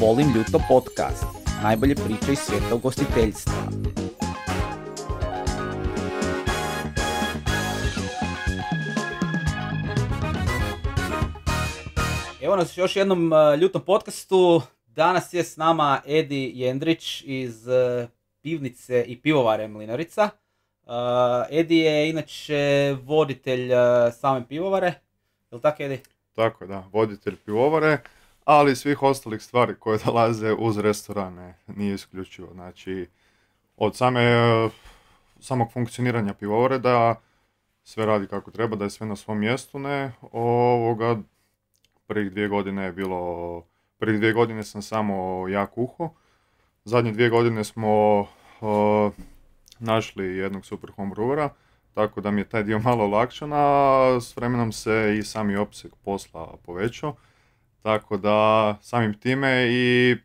Volim ljuto podcast. Najbolje priče iz svijeta ugostiteljstva. Evo nas još jednom ljutom podcastu. Danas je s nama Edi Jendrić iz pivnice i pivovare Mlinarica. Edi je inače voditelj same pivovare. Je li tako, Edi? Tako da, voditelj pivovare, ali i svih ostalih stvari koje dolaze uz restorane, nije isključivo. Znači, od samog funkcioniranja pivovare da sve radi kako treba, da je sve na svom mjestu, prvih 2 godine je bilo, prvih 2 godine sam samo ja kuhao, zadnje 2 godine smo našli jednog super homebrewera, tako da mi je taj dio malo olakšan, a s vremenom se i sami opseg posla povećao, tako da samim time i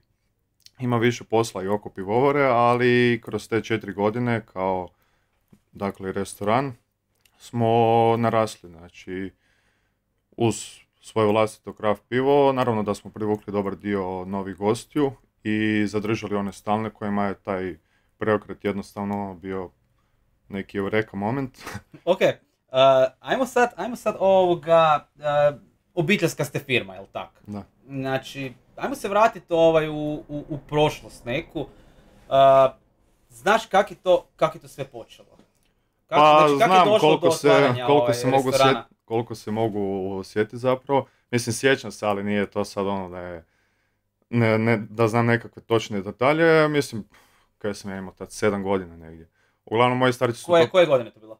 ima više posla i oko pivovare, ali kroz te 4 godine kao dakle restoran smo narasli, znači uz svoje vlastito craft pivo, naravno da smo privukli dobar dio novih gostiju i zadržali one stalne kojima je taj preokret jednostavno bio neki eureka moment. Ok, ajmo sad obiteljska ste firma, jel tako? Da. Znači, ajmo se vratiti u prošlost neku. Znaš kak je to sve počelo? Znam restorana? koliko se mogu sjetiti zapravo. Mislim, sjećam se, ali nije to sad ono da je da znam nekakve točne detalje. Mislim, kada sam ja imao tad 7 godina negdje. Uglavnom, moji starci su... Koje godine to bilo?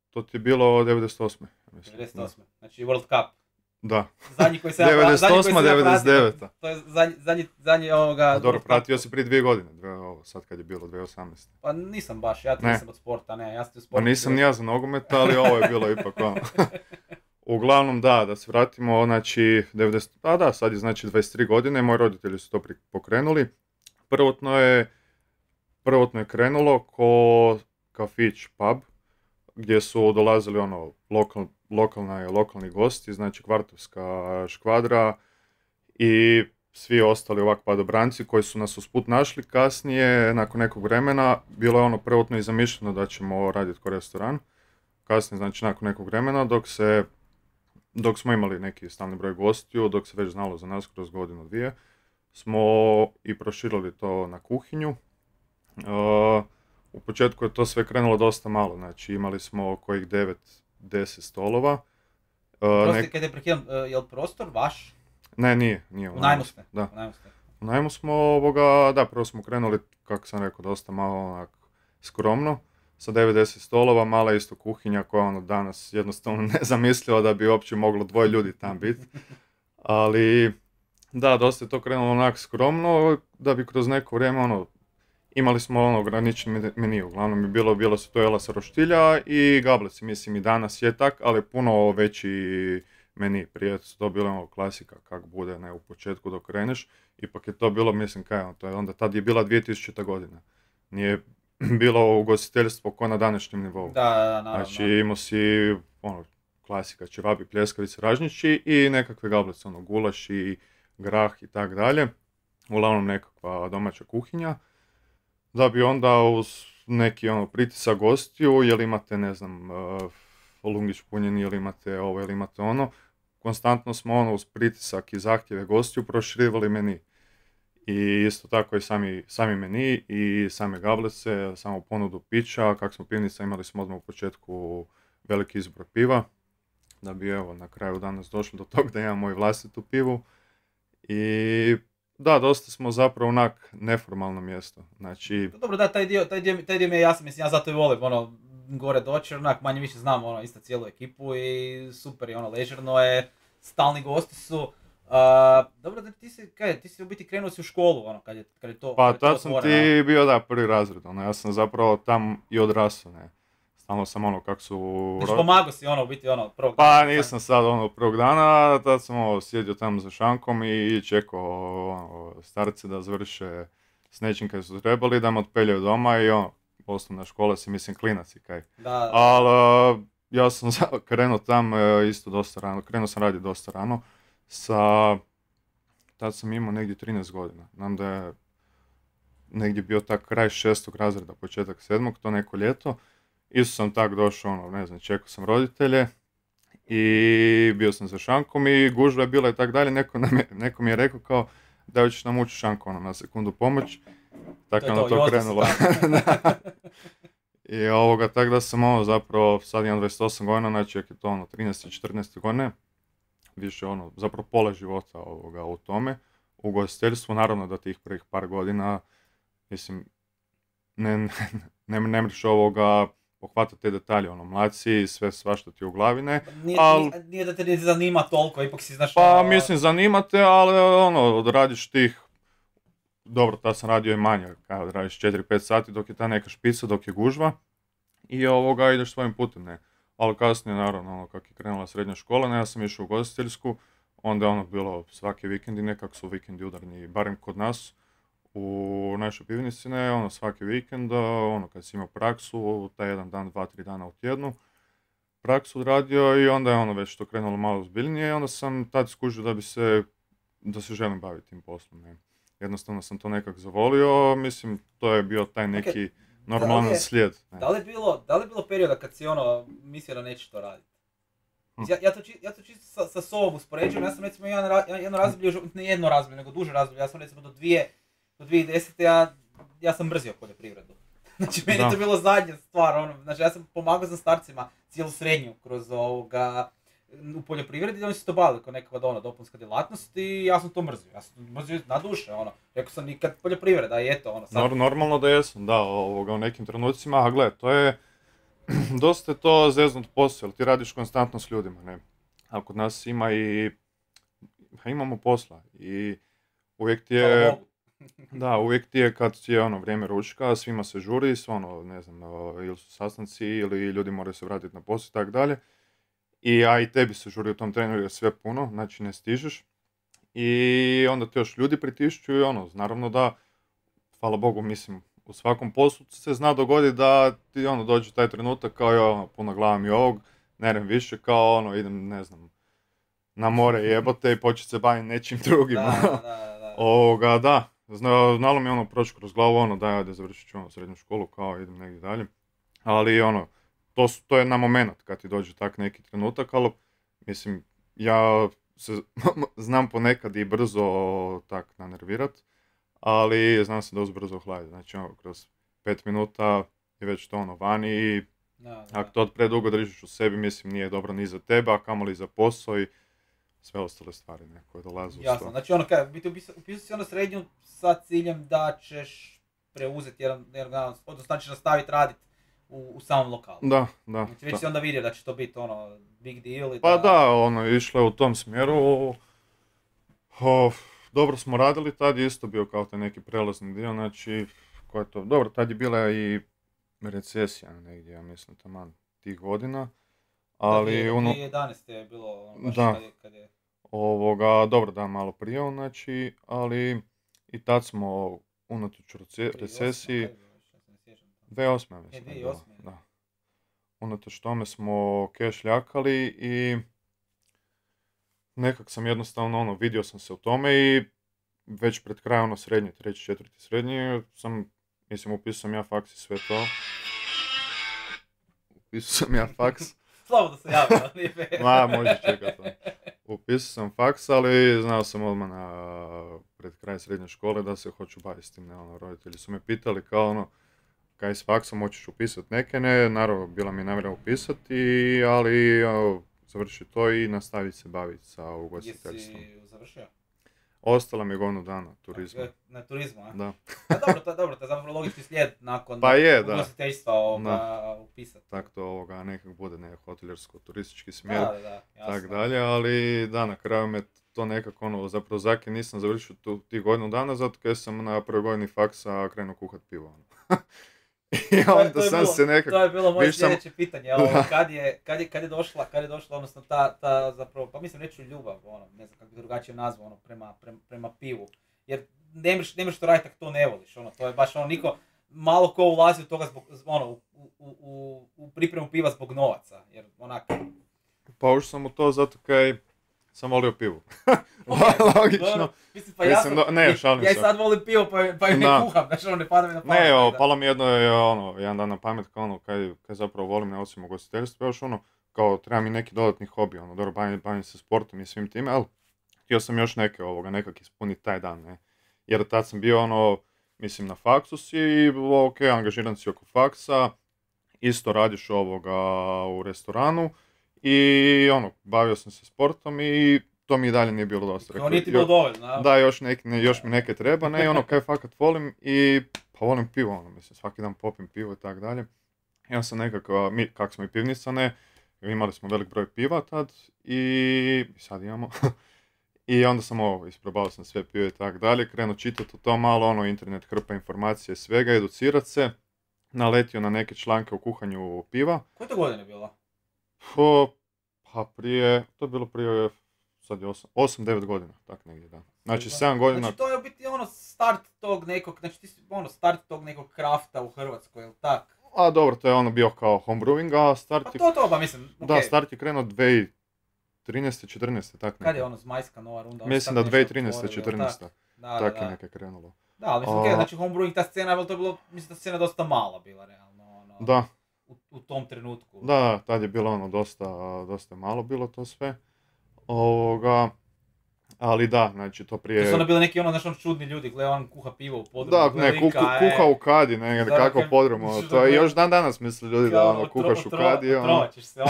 To ti je bilo 98. Mislim. 98. Znači World Cup. Da. Zadnji koji se 98-99. To je zadnji ovoga... Dobro, pratio si prije 2 godine, sad kad je bilo 2018. Pa nisam baš, ja nisam od sporta, ja sam u sportu. Pa nisam ni ja za nogomet, ali ovo je bilo ipak ono. Uglavnom da se vratimo, znači, sad je znači 23 godine, moji roditelji su to pokrenuli. Prvotno je krenulo ko kafić pub, gdje su dolazili lokalni gosti, znači kvartovska škvadra i svi ostali ovak padobranci koji su nas usput našli. Kasnije, nakon nekog vremena, bilo je prvotno i zamišljeno da ćemo raditi ko restoran. Kasnije, znači nakon nekog vremena, dok smo imali neki stalni broj gostiju, dok se već znalo za nas kroz godinu dvije, smo i proširili to na kuhinju. U početku je to sve krenulo dosta malo, znači imali smo kojih 9-10 stolova. Prosti, kad je prekidam, je li prostor vaš? Ne, nije. U najmu ste? Da. U najmu smo, prvo smo krenuli, kako sam rekao, dosta malo skromno, sa 9-10 stolova, mala isto kuhinja koja danas jednostavno nezamisliva da bi uopće moglo 2 ljudi tam biti. Ali, da, dosta je to krenulo skromno, da bi kroz neko vrijeme imali smo ograničen meni, uglavnom je bilo su to jela sa roštilja i gableci, mislim i danas je tak, ali puno veći meni. Prije su to bilo klasika kak bude, ne, u početku dok kreneš, ipak je to bilo, mislim to je onda, tad je bila 2000. godina, nije bilo ugostiteljstvo ko na današnjem nivou. Da, naravno. Znači imao si klasika, ćevapi, pljeskavice, ražnjići i nekakve gablece, gulaš i grah i tak dalje, uglavnom nekakva domaća kuhinja. Da bi onda uz neki pritisak gostiju, jel imate, ne znam, lungić punjeni, jel imate ovo, jel imate ono, konstantno smo uz pritisak i zahtjeve gostiju proširivali meni. I isto tako i sami meni i same gablece, samo ponudu pića, kak smo pivnica, imali smo odmah u početku veliki izbor piva, da bi na kraju danas došli do toga da imamo moju vlastitu pivu. I da, dosta smo zapravo neformalno mjesto. Znači... Dobro, da, taj dio mi je jasan, mislim, ja zato i volim, gore doći, manje više znam, isto cijelu ekipu i super je, ležerno je, stalni gosti su. Dobro, da ti si u biti krenuo si u školu, kad je to pa tad sam ti bio, prvi razred, ja sam zapravo tam i odrasao, ne. Stalno sam kak su... Znači pomagao si u biti prvog dana? Pa nisam sad prvog dana, tad sam sjedio tamo za šankom i čekao starce da završe s nečim kaj su trebali, da me otpeljaju doma i osnovna škola si, mislim, klinac i kaj. Da. Ali ja sam krenuo tam isto dosta rano, krenuo sam raditi dosta rano sa tad sam imao negdje 13 godina. Znam da je negdje bio tak kraj 6. razreda, početak 7. to neko ljeto. Isto sam tak došao, ono, ne znam, čekao sam roditelje i bio sam za šankom i gužva je bila i tak dalje. Neko mi je rekao kao da ćeš nam ući šanku, ono, na sekundu pomoć. Tako je ono to krenulo. I tako da sam ovo zapravo, sad imam 28 godina, znači je to ono 13. 14. godine, više ono, zapravo pola života u tome, u ugostiteljstvu, naravno da tih prvih par godina, mislim, ne mreš pohvatati te detalje, ono, mlad si, sve svašta ti u glavi, ne. Nije da te ne zanima toliko, ipak si znaš... Pa, mislim, zanima te, ali ono, odradiš tih, dobro, tad sam radio i manje, kada odradiš 4-5 sati dok je ta neka špica, dok je gužva, i ideš svojim putem, ne. Ali kasnije, naravno, ono, kak je krenula srednja škola, ne, ja sam išao u ugostiteljsku, onda je ono bilo svaki vikendi, nekak su vikendi udarni, barem kod nas, u našoj pivnici, ne, ono, svaki vikend, ono, kad si imao praksu, taj jedan dan, 2-3 dana u tjednu, praksu odradio i onda je ono već to krenulo malo ozbiljnije i onda sam tad skužio da se želim baviti tim poslom, ne. Jednostavno sam to nekak zavolio, mislim, to je bio taj neki normalan slijed. Ne. Da li je bilo perioda kad si ono mislio da nećeš to raditi? Ja to čisto sa sobom uspoređujem, ja sam recimo jedno razdoblje, ne jedno razdoblje, nego duže razdoblje, ja sam recimo do 2010. Ja sam mrzio poljoprivredu. Znači meni to bilo zadnja stvar, ono, znači ja sam pomagao za starcima cijelu srednju kroz u poljoprivredi, oni su to bavili kao nekakva dopunska djelatnost i ja sam to mrzio. Ja sam mrzio na duše, ono. Rekao sam nikad poljoprivreda i eto, ono. Sad... Normalno da jesam, da, u nekim trenucima, a gle, to je, dosta je to zeznut posao, jer ti radiš konstantno s ljudima, ne. A kod nas imamo posla i uvijek ti je, da, uvijek ti je kad je ono vrijeme ručka, svima se žuri, ono, ne znam, ili su sastanci ili ljudi moraju se vratiti na posao i tako dalje. A i tebi se žuri u tom trenu jer je sve puno, znači ne stižeš. I onda te još ljudi pritišću i ono, naravno da, hvala Bogu, mislim, u svakom poslu se zna dogoditi da ti ono dođe taj trenutak kao ja, ono, puno glava mi ovog, nerem više, kao ono, idem, ne znam, na more jebote i početi se baviti nečim drugim. Da. Znalo mi ono proći kroz glavu, ono, da završit ću ono srednju školu, kao idem negdje dalje. Ali ono, to je na moment kad ti dođe tak neki trenutak, ali mislim, ja se znam ponekad i brzo tak nanervirat, ali znam se dosta brzo ohladiti. Znači, ono, kroz 5 minuta je već to ono vani i ako to predugo držiš u sebi, mislim, nije dobro ni za tebe, a kamoli za posao i sve ostale stvari koje dolaze uz to. Jasno, znači ono kaj, upisao si ono srednju sa ciljem da ćeš preuzeti jedan odnosno da ćeš nastaviti raditi u samom lokalu. Da. Znači već si onda vidio da će to biti ono big deal i pa da, ono, išlo je u tom smjeru. Dobro smo radili, tad je isto bio kao taj neki prelazni dio, znači, ko je to, dobro, tad je bila i recesija negdje, ja mislim, taman tih godina. Ali 2011. je bilo baš kad je... Dobro, da, malo prije, znači, ali i tad smo unatoč recesiji... 2008. mislim. 2008. Da. Unatoč tome smo keš ljakali i nekak sam jednostavno, ono, vidio sam se u tome i već pred kraj, ono, srednje, 3. 4. srednje, upisao sam ja faks i sve to. Upisao sam ja faks. Slabo da se javio, može čekati. Upisao sam faks, ali znao sam odmah pred kraj srednje škole da se hoću baviti s tim, ne, ono, roditelji su me pitali kao ono, kaj s faksom hoćeš upisati neke, ne, naravno bila mi namjera upisati, ali završi to i nastaviti se baviti sa ugostiteljstvom. Jesi završio? Ostala mi je godinu dana turizma. Na turizmu, a? Da. Dobro, to je zapravo logički slijed nakon ugostiteljstva upisati. Tako to nekak bude, ne, hoteljersko-turistički smjer, jasno. tak dalje, ali da, na kraju me to nekako, ono, zapravo zake nisam završio tih godinu dana, zato jer sam na prvoj godini faksa krenuo kuhat pivo, ono. I onda sam se nekako... To je bilo moje sljedeće pitanje, kad je došla, odnosno ta zapravo, pa mislim reći ljubav, ono, ne znam kako bi drugačije nazvao, ono, prema pivu. Jer ne možeš to raditi ako to ne voliš, ono, to je baš ono, malo ko ulazi u toga zbog, ono, u pripremu piva zbog novaca, jer onako... Pa ušao sam u to zato kaj sam volio pivu. Ok, Logično. dobro. Mislim, pa ja Mislim, sam, ne, šalim ja i se. sad volim pivo, pa i ne Da. kuham, znači ono ne pada mi na pamet. Ne, tako da. palo mi jedan dan na pamet, kao kaj zapravo volim, ne osim ugostiteljstva, još kao treba mi neki dodatni hobi, dobro, bavim se sportom i svim time, ali htio sam još nekak ispuniti taj dan, ne. Jer tad sam bio, mislim, na faksu si i, ok, angažiran si oko faksa, isto radiš u restoranu i, bavio sam se sportom i to mi i dalje nije bilo dosta. To nije ti bilo dovoljno, a? Da, još mi neke treba, ne, kaj fakat volim i pa volim pivo, mislim, svaki dan popim pivo i tak dalje. I onda sam nekako, kak smo i pivnica, ne, imali smo velik broj piva tad i sad imamo. I onda sam isprobao sam sve pivo i tak dalje, krenuo čitati o to malo, internet hrpa informacije svega, educirat se, naletio na neke članke o kuhanju piva. Koje to godine bilo? Pa to je bilo prije, sad je 8-9 godina, tak negdje, da. Znači 7 godina... Znači to je u biti start tog nekog, znači ti si start tog nekog krafta u Hrvatskoj, jel tak? A dobro, to je bio kao homebrewing, a start je... Pa to, pa mislim, okej. Da, start je krenuo 2013. 14. tak nekako. Kad je Zmajska nova runda? Mislim da 2013. 14. Tak je neke krenulo. Da, ali mislim, znači homebrewing, ta scena, to je bilo, mislim da scena dosta mala bila, realno, Da. U tom trenutku. Da, tad je bilo dosta malo bilo to sve. Ali da, znači to prije... To su onda bili neki čudni ljudi, gledaj, on kuha pivo u podrumu. Da, ne, kuha u kadi, ne, kako podrumu, to je još dan danas misli ljudi da kuhaš u kadi. Otrovaćeš se,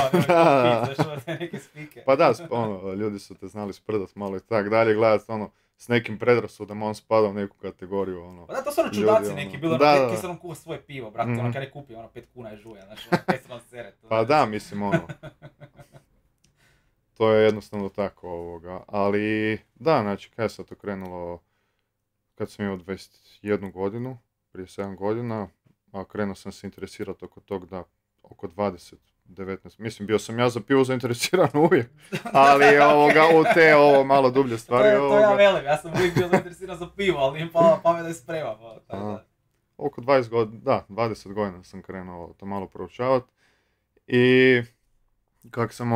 neke spike. Pa da, ljudi su te znali sprdat malo i tak dalje, gledat s nekim predrasudama, on spada u neku kategoriju, Pa da, to su čudaci neki, bilo ki se on kuha svoje pivo, brate, kad ne kupi, 5 kuna je žuja, znači, 5 se vam sere. Pa da, mislim, to je jednostavno tako, ali da, znači, kada je sad to krenulo, kad sam imao 21 godinu, prije 7 godina, a krenuo sam se interesirati oko tog da, oko 20, 19, mislim, bio sam ja za pivo zainteresiran uvijek, ali u te malo dublje stvari. To ja velim, ja sam uvijek bio zainteresiran za pivo, ali nije pala pamet da je sprema. Oko 20 godina sam krenuo to malo proučavati i kako sam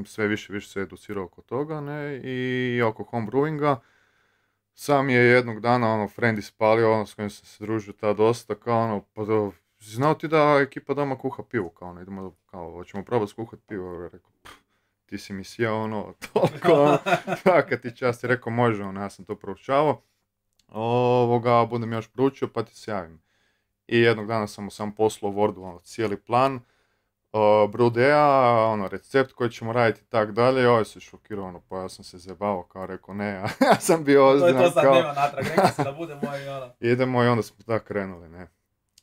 sve više se educirao oko toga, ne, i oko homebrewinga. Sam je jednog dana, friend ispalio, s kojim sam se družio tada dosta, kao pa znao ti da ekipa doma kuha pivo, idemo, hoćemo probati skuhati pivo, rekao, ti si mi sjeo, toliko, kad ti čast, rekao, može, ja sam to proučavao, budem još proučio, pa ti se javim. I jednog dana sam mu sam poslao u Wordu, cijeli plan, brudea, recept koji ćemo raditi i tak dalje, ovaj se šokirao, pa ja sam se zjebavao, kao rekao ne, ja sam bio ozbiljan. To sad nema natrag, rekao se da bude moj Idemo i onda smo tako krenuli, ne.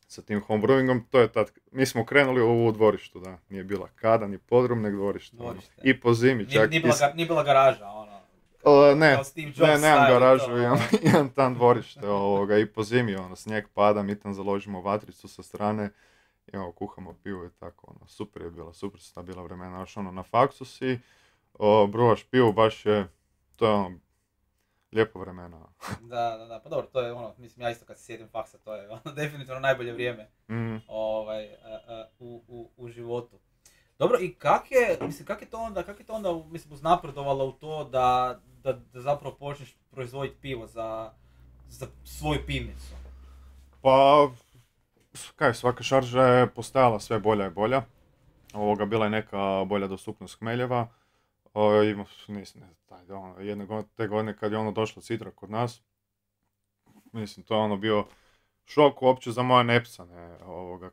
Sa tim homebrewingom, to je tad, mi smo krenuli u dvorištu, da, nije bila kada, ni podrum, nek dvorište. I po zimi čak. Nije bila garaža, ne, nemam garažu, imam tam dvorište, i po zimi, snijeg pada, mi tam založimo vatricu sa strane, kuhamo pivo i tako, super je bila, super su ta bila vremena, na faksu si, bruvaš pivo, baš je, to je lijepo vremena. Da, pa dobro, to je mislim, ja isto kad se sjedim faksa, to je definitivno najbolje vrijeme u životu. Dobro, i kak je to onda, mislim, uznapredovalo u to da zapravo počneš proizvoditi pivo za svoju pivnicu? Pa, svaka šarža je postajala sve bolja i bolja. Bila je neka bolja dostupnost hmeljeva. Te godine kad je došlo citra kod nas, mislim, to je bio šok uopće za moja nepsa, ne,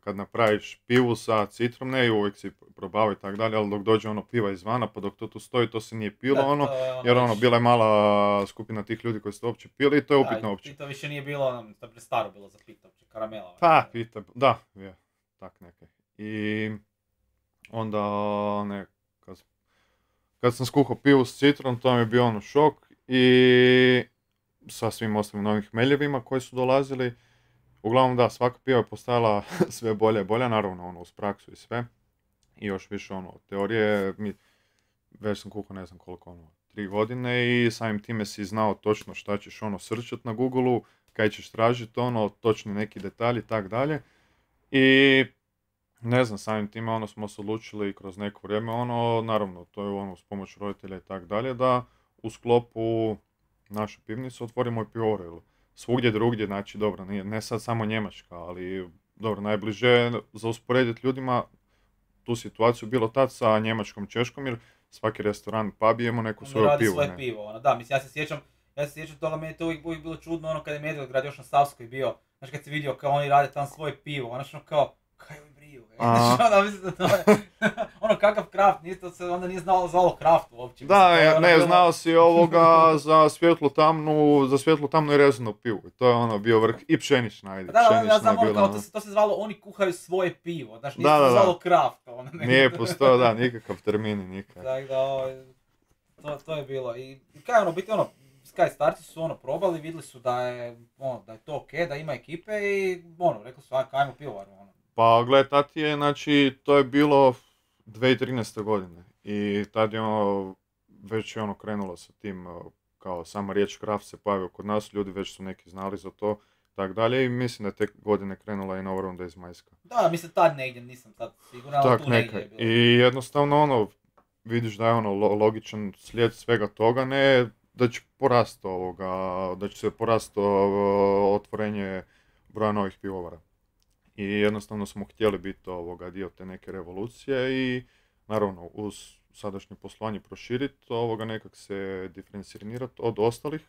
kad napraviš pivu sa citrom, ne, i uvijek si probao i tak dalje, ali dok dođe piva izvana, pa dok to tu stoji, to se nije pilo, jer bila je mala skupina tih ljudi koji su to uopće pili i to je upitno uopće. I to više nije bilo, to je staro bilo za pita uopće, karamela. Pa, pita, da, je, tak neke. I onda, ne, kad sam skuhao pivu s citrom, to mi je bio šok i sa svim ostalim novim hmeljevima koji su dolazili. Uglavnom da, svaka piva je postajala sve bolje i bolje, naravno uz praksu i sve. I još više teorije, već sam kuhao ne znam koliko, 3 godine i samim time si znao točno šta ćeš srčat na Google-u, kaj ćeš tražiti, točni neki detalji i tak dalje. I ne znam, samim time ono smo se odlučili kroz neko vrijeme, ono, naravno, to je ono uz pomoć roditelja i tak dalje, da u sklopu naše pivnice otvorimo i pivovaru. Jer svugdje drugdje, znači dobro, nije, ne sad samo Njemačka, ali dobro, najbliže je za usporediti ljudima tu situaciju bilo tad sa Njemačkom, Češkom, jer svaki restoran, pub je imao neku On svoju radi pivu, svoje ne. pivo, ono, da, mislim, ja se sjećam toga, meni je to uvijek bilo čudno, ono, kada je Medvedgrad još na Savskoj bio, znači kad si vidio kao oni rade tam svoje pivo, ono što kao, kaj ovi briju, A. znači, ono, mislim da to je, ono, kakav kraft, to se onda nije zvalo kraft uopće, Da, mislim, to je ono ne, bilo- znao si ovoga za svjetlo tamnu i rezanu pivu. I to je ono bio vrh i pšenična, ajde, Da, ja pšenična znam, je ono, bila, kao, ono. to se zvalo, oni kuhaju svoje pivo, znači, nije Da, se da, da. zvalo kraft, ono, nego- Nije postojao, da, nikakav termin, nikakav. Tako da, to je bilo. I kaj ono, biti ono, kaj starci su ono probali, vidjeli su da je to okej, da ima ekipe i ono, rekli su, ajmo pivovaru, ono. Pa gle, tad je, znači, to je bilo 2013. godine. I tad je ono, već je ono krenulo sa tim, kao sama riječ kraft se pojavio kod nas, ljudi već su neki znali za to, tak dalje. I mislim da je te godine krenula i nova runda iz Majska. Da, mislim tad negdje, nisam sad siguran, ali Tak tu neka. negdje je bilo. I jednostavno ono, vidiš da je ono logičan slijed svega toga, ne da će porast da će se porast otvorenje broja novih pivovara. I jednostavno smo htjeli biti dio te neke revolucije i naravno uz sadašnje poslovanje proširiti, nekak se diferencirati od ostalih,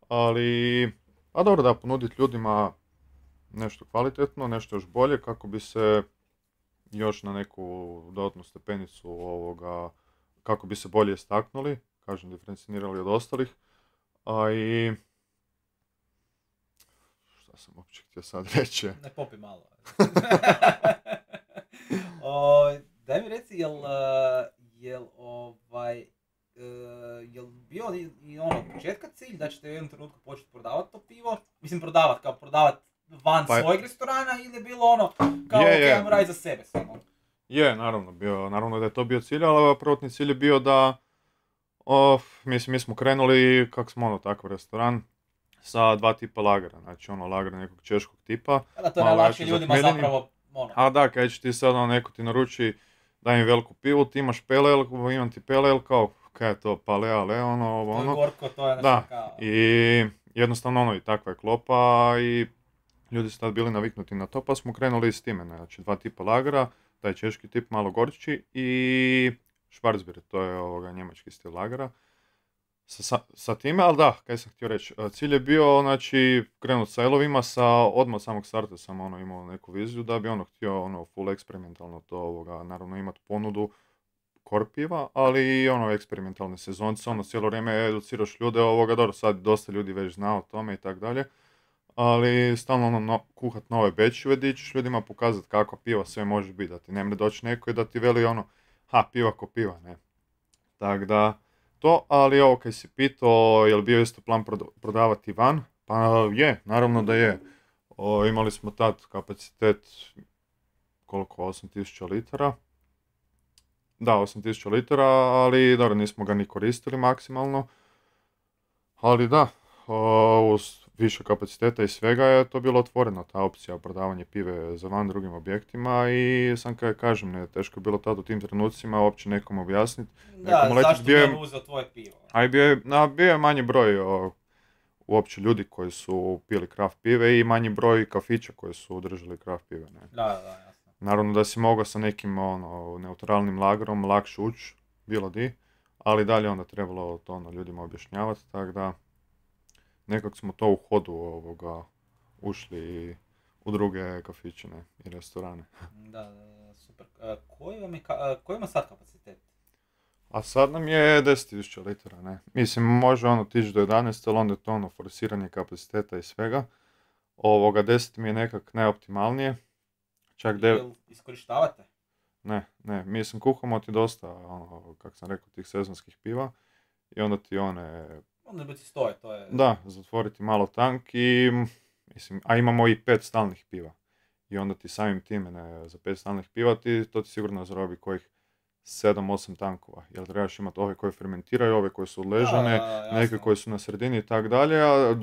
ali a dobro da ponuditi ljudima nešto kvalitetno, nešto još bolje kako bi se još na neku dodatnu stepenicu kako bi se bolje istaknuli, kažem, diferencirali od ostalih, a i šta sam uopće htio sad reći? Ne popi malo. Daj mi reci, jel bio i ono početka cilj da ćete u jednom trenutku početi prodavati to pivo? Mislim prodavat van Pa svojeg restorana ili je bilo ono kao je. ajmo raditi za sebe samo? Je, naravno da je to bio cilj, ali prvotni cilj je bio da mi smo krenuli, kak smo takav restoran, sa dva tipa lagera, znači lager nekog češkog tipa. Da, to je malo najlakše jače ljudima zakhmeljeni. zapravo, ono. A da, kad će ti sad neko ti naruči, daj mi veliku pivu, ti imaš pale ale, imam ti pale ale, kao, kaj je to, pale ale, To je gorko, to je Da, nešto kao... i jednostavno i takva je klopa i ljudi su tad bili naviknuti na to, pa smo krenuli s time, znači dva tipa lagera, taj češki tip malo gorči i Schwarzbier, to je njemački stil lagera. Sa time, ali da, kaj sam htio reći, cilj je bio, znači, krenut sa elovima, odmah od samog starta sam imao neku viziju da bi htio full eksperimentalno to, naravno imat ponudu core piva, ali i eksperimentalne sezonce, cijelo vrijeme educiraš ljude, dobro, sad dosta ljudi već zna o tome i tak dalje, ali stalno kuhat nove bečive gdje ćeš ljudima pokazati kako piva sve može biti, da ti ne mre doći neko i da ti veli piva ko piva, ne. Tak da, to, ali ovo kaj si pitao, je li bio isto plan prodavati van? Pa je, naravno da je. Imali smo tad kapacitet, koliko, 8000 litara. Da, 8000 litara, ali dobro, nismo ga ni koristili maksimalno. Ali da, uz više kapaciteta i svega je to bilo otvoreno, ta opcija prodavanja pive za van drugim objektima i sam kaj kažem, ne, teško je bilo tad u tim trenucima uopće nekom objasniti. Da, zašto bi on uzeo tvoje pivo? A bio je manji broj uopće ljudi koji su pili kraft pive i manji broj kafića koji su držali kraft pive. Ne. Da, jasno. Naravno da si mogao sa nekim neutralnim lagerom lakše ući, bilo di, ali dalje onda trebalo to ljudima objašnjavati, tako da nekako smo to u hodu ušli u druge kafiće i restorane. Da, super. Koji ima sad kapacitet? A sad nam je 10.000 litara, ne. Mislim, može tići do 11, ali onda je to forsiranje kapaciteta i svega. 10 mi je nekak najoptimalnije. Čak iskorištavate? Ne, mislim, kuhamo ti dosta, kako sam rekao, tih sezonskih piva. I onda ti Onda bi ti stoje, to je... Da, zatvoriti malo tank i, mislim, a imamo i 5 stalnih piva. I onda ti samim time, za 5 stalnih piva, to ti sigurno zarobi kojih 7-8 tankova. Jer trebaš imati ove koje fermentiraju, ove koje su odležane, neke koje su na sredini i tak dalje, a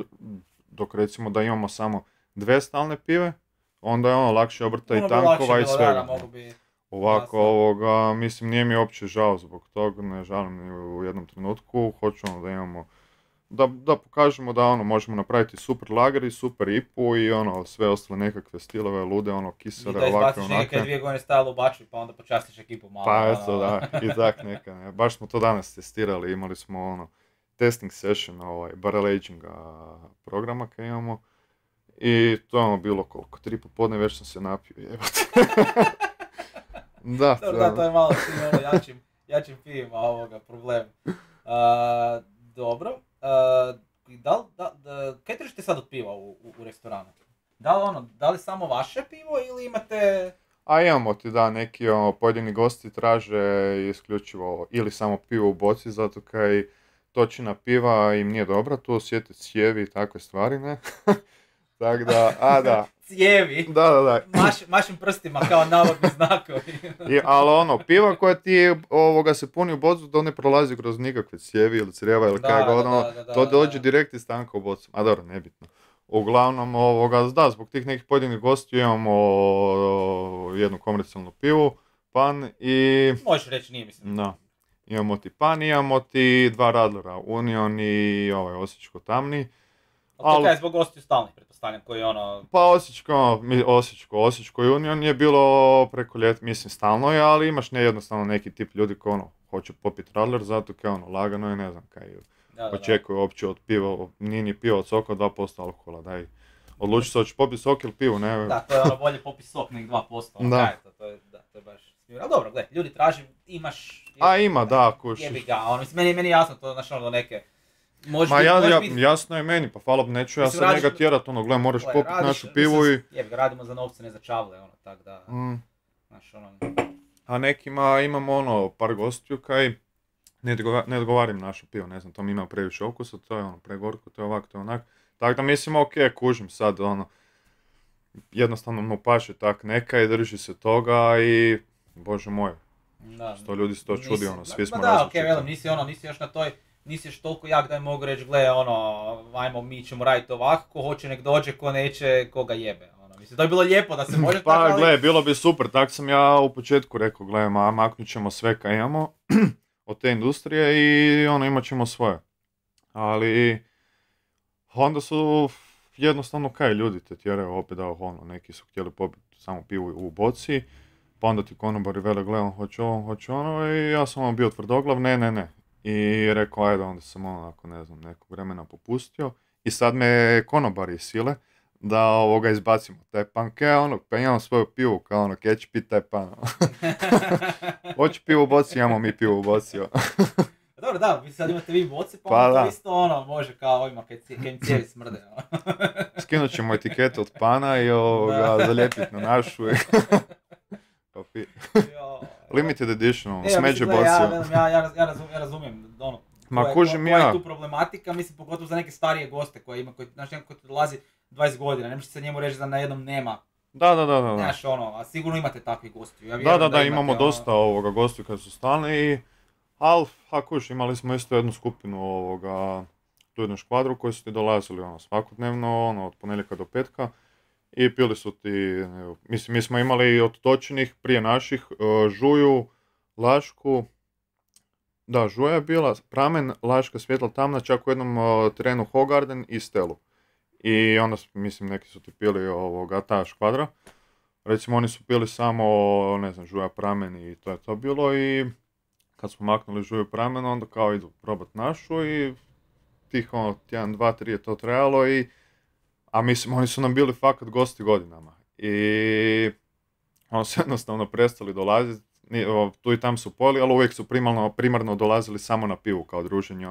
dok recimo da imamo samo 2 stalne pive, onda je ono lakše obrta i Puno bi lakše tankova i bilo, svega. da, mogu bi... Ovako, Jasno. mislim, nije mi uopće žao zbog toga, ne žalim ni u jednom trenutku, hoću ono da imamo, da pokažemo da ono, možemo napraviti super lager i super IPU i ono, sve ostale nekakve stilove, lude, ono, I kisele, da ovakve, izbaciš neke 2 godine stajalo u bačvi, pa onda počastiš ekipu malo. Pa ono. eto, da, i tak neka, ne. Baš smo to danas testirali, imali smo ono, testing session, barrel aginga programa kad imamo, i to je ono bilo koliko, 3 popodne već sam se napio, jebate. Da, Dobro, da, to je malo s tim ono jačim pivima ovoga problem. Dobro. Kaj držite sad od piva u restoranu? Da li samo vaše pivo ili imate... A imamo ti da, neki pojedini gosti traže isključivo ili samo pivo u boci, zato kaj točina piva im nije dobra, tu osjeti cijevi i takve stvari, ne? Tako da, da. Cijevi? Da. Mašim prstima kao navodni znakovi. Ali ono, piva koja ti se puni u bocu, to ne prolazi kroz nikakve cijevi ili crijeva ili kaj god, to dođe direkt iz tanka u bocu. A dobro, nebitno. Uglavnom, da, zbog tih nekih pojedinih gostiju imamo jednu komercijalnu pivu, pan i... Možeš reći, nije mislim. Da. Imamo ti pan, imamo ti 2 radlera, Union i osječko tamni. Ali to kaj je zbog gostiju stalnih, pretpostavljam, koji ono... Pa Osječko i Union je bilo preko ljeta, mislim stalno je, ali imaš jednostavno neki tip ljudi koji hoće popiti radler, zato kaj lagano je, ne znam kaj očekuju uopće od piva, nije ni pivo od soka 2% alkohola, daj. Odluči se hoćeš popiti sok ili pivo, ne? Da, to je bolje popiti sok nek 2%, da. To je baš smijur. Ali dobro, gledaj, ljudi traži, imaš... Ima, da, kušiš. Jebi ga, meni je jasno to, znaš do neke... Jasno je meni, pa hvala, neću ja sad njega tjerat, gle, moraš popiti našu pivu i... Jebi ga, radimo za novce, ne za čavle, tak da... Znaš, A nekima imamo par gostiju kaj ne odgovarim našu pivu, ne znam, to mi ima previše okusa, to je pregorko, to je ovako, to je onak. Tako da mislim, kužim sad, jednostavno mu paše tak neka i drži se toga i, bože moj, što ljudi se to čudi, svi smo različiti. Da, nisi još na toj, nisi još toliko jak da je mogu reći, gle, ajmo, mi ćemo raditi ovako, ko hoće nek dođe, ko neće, ko ga jebe. Mislim, to je bilo lijepo da se može pa, tako, ali... gle, bilo bi super, tak sam ja u početku rekao, gle, maknut ćemo sve kaj imamo od te industrije i imat ćemo svoje. Ali onda su jednostavno kaj ljudi te tjeraju opet da neki su htjeli popiti samo pivu u boci, pa onda ti konobari vele, gle, hoće ono i ja sam bio tvrdoglav, ne. I rekao, ajde, onda sam onako, ne znam, nekog vremena popustio i sad me konobari sile da izbacimo taj pan, pa imamo svoju pivu, kao kaj će piti taj pan. Hoće pivu u boci, imamo mi pivu u boci. Dobro, da, vi sad imate vi boci, pa to isto može kao ovima kaj im cijevi smrde. Skinut ćemo etiketu od pana i zalijepiti na našu. Limited edition, smeđe boci. Ja razumijem, koja je tu problematika, mislim, pogotovo za neke starije goste koji znaš, neko koji dolazi 20 godina, ne možete se njemu reći da na jednom nema. Da. Znaš, a sigurno imate takvih gostiju. Da, imamo dosta gostiju kad su stalni i imali smo isto jednu skupinu tu jednu škvadru koji su ti dolazili svakodnevno, od ponedjeljka do petka i pili su ti, mislim, mi smo imali od točenih prije naših Žuju, Lašku, da, Žuja je bila, Pramen, Laška, Svjetla, Tamna, čak u jednom terenu Hogarden i Stelu. I onda, mislim, neki su ti pili ta škvadra. Recimo, oni su pili samo, ne znam, Žuja, Pramen i to je to bilo i kad smo maknuli Žuju, Pramen, onda kao idu probat našu i tih, 1, 2, 3 je to trajalo i a mislim, oni su nam bili fakat gosti godinama. I oni su jednostavno prestali dolaziti, tu i tam su poli, ali uvijek su primarno dolazili samo na pivu kao druženje,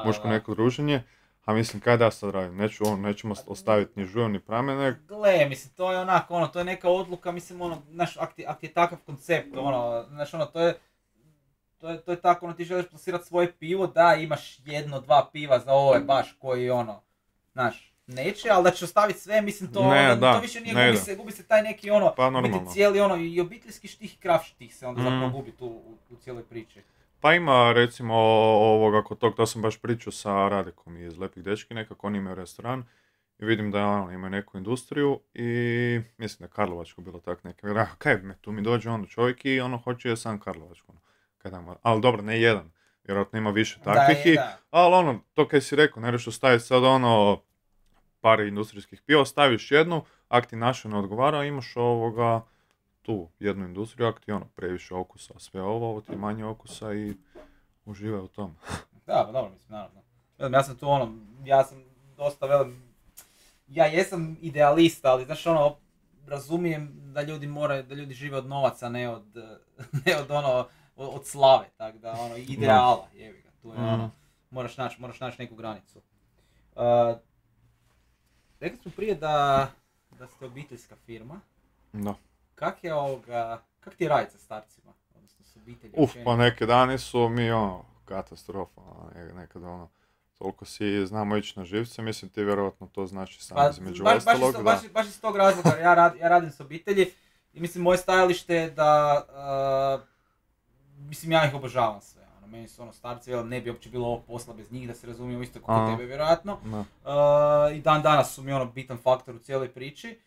muško neko druženje. A mislim, kaj da sad radim? Nećemo ostaviti ni Žuju, ni Pramene. Gle, mislim, to je onako, to je neka odluka, mislim, znaš, ak je takav koncept, znaš, to je tako, ti želiš plasirati svoje pivo, da, imaš 1, 2 piva za ove baš koji, znaš, neće, ali da ćeš ostaviti sve, mislim, to više nije, gubi se taj neki, pa, cijeli, i obiteljski štih i krav štih se onda zapravo gubi tu u cijeloj priči. Pa ima, recimo, kod tog, to sam baš pričao sa Radekom iz Lepih dečki, nekako oni imaju restoran, i vidim da ono, imaju neku industriju i mislim da je Karlovačko bilo tak neke, kaj me, tu mi dođe ono čovjek i ono hoće je sam Karlovačko. Ali dobro, ne jedan, vjerojatno ima više takvih, ali ono, to kaj si rekao, ne što staviti sad ono par industrijskih piva, staviš jednu, ak ti naša ne odgovara, imaš tu jednu industriju, ak ti ono previše okusa, sve ovo ti manje okusa i uživaj u tom. Da, pa dobro, mislim, naravno. Ja sam tu ja sam dosta ja jesam idealista, ali znaš razumijem da ljudi da ljudi žive od novaca, ne od slave, tako da ideala, jebi ga, tu je moraš naći neku granicu. Rekli smo prije da ste obiteljska firma. Da. Kak ti je raditi sa starcima, odnosno s obitelji? Pa neke dani su mi katastrofa, nekada toliko si znamo ići na živce, mislim ti vjerojatno to znači sam između ostalog. Baš iz tog razloga, ja radim s obitelji i mislim moje stajalište je da, mislim ja ih obožavam sve. Meni su starci, ne bi uopće bilo ovog posla bez njih, da se razumijemo isto kako tebe vjerojatno. I dan danas su mi bitan faktor u cijeloj priči.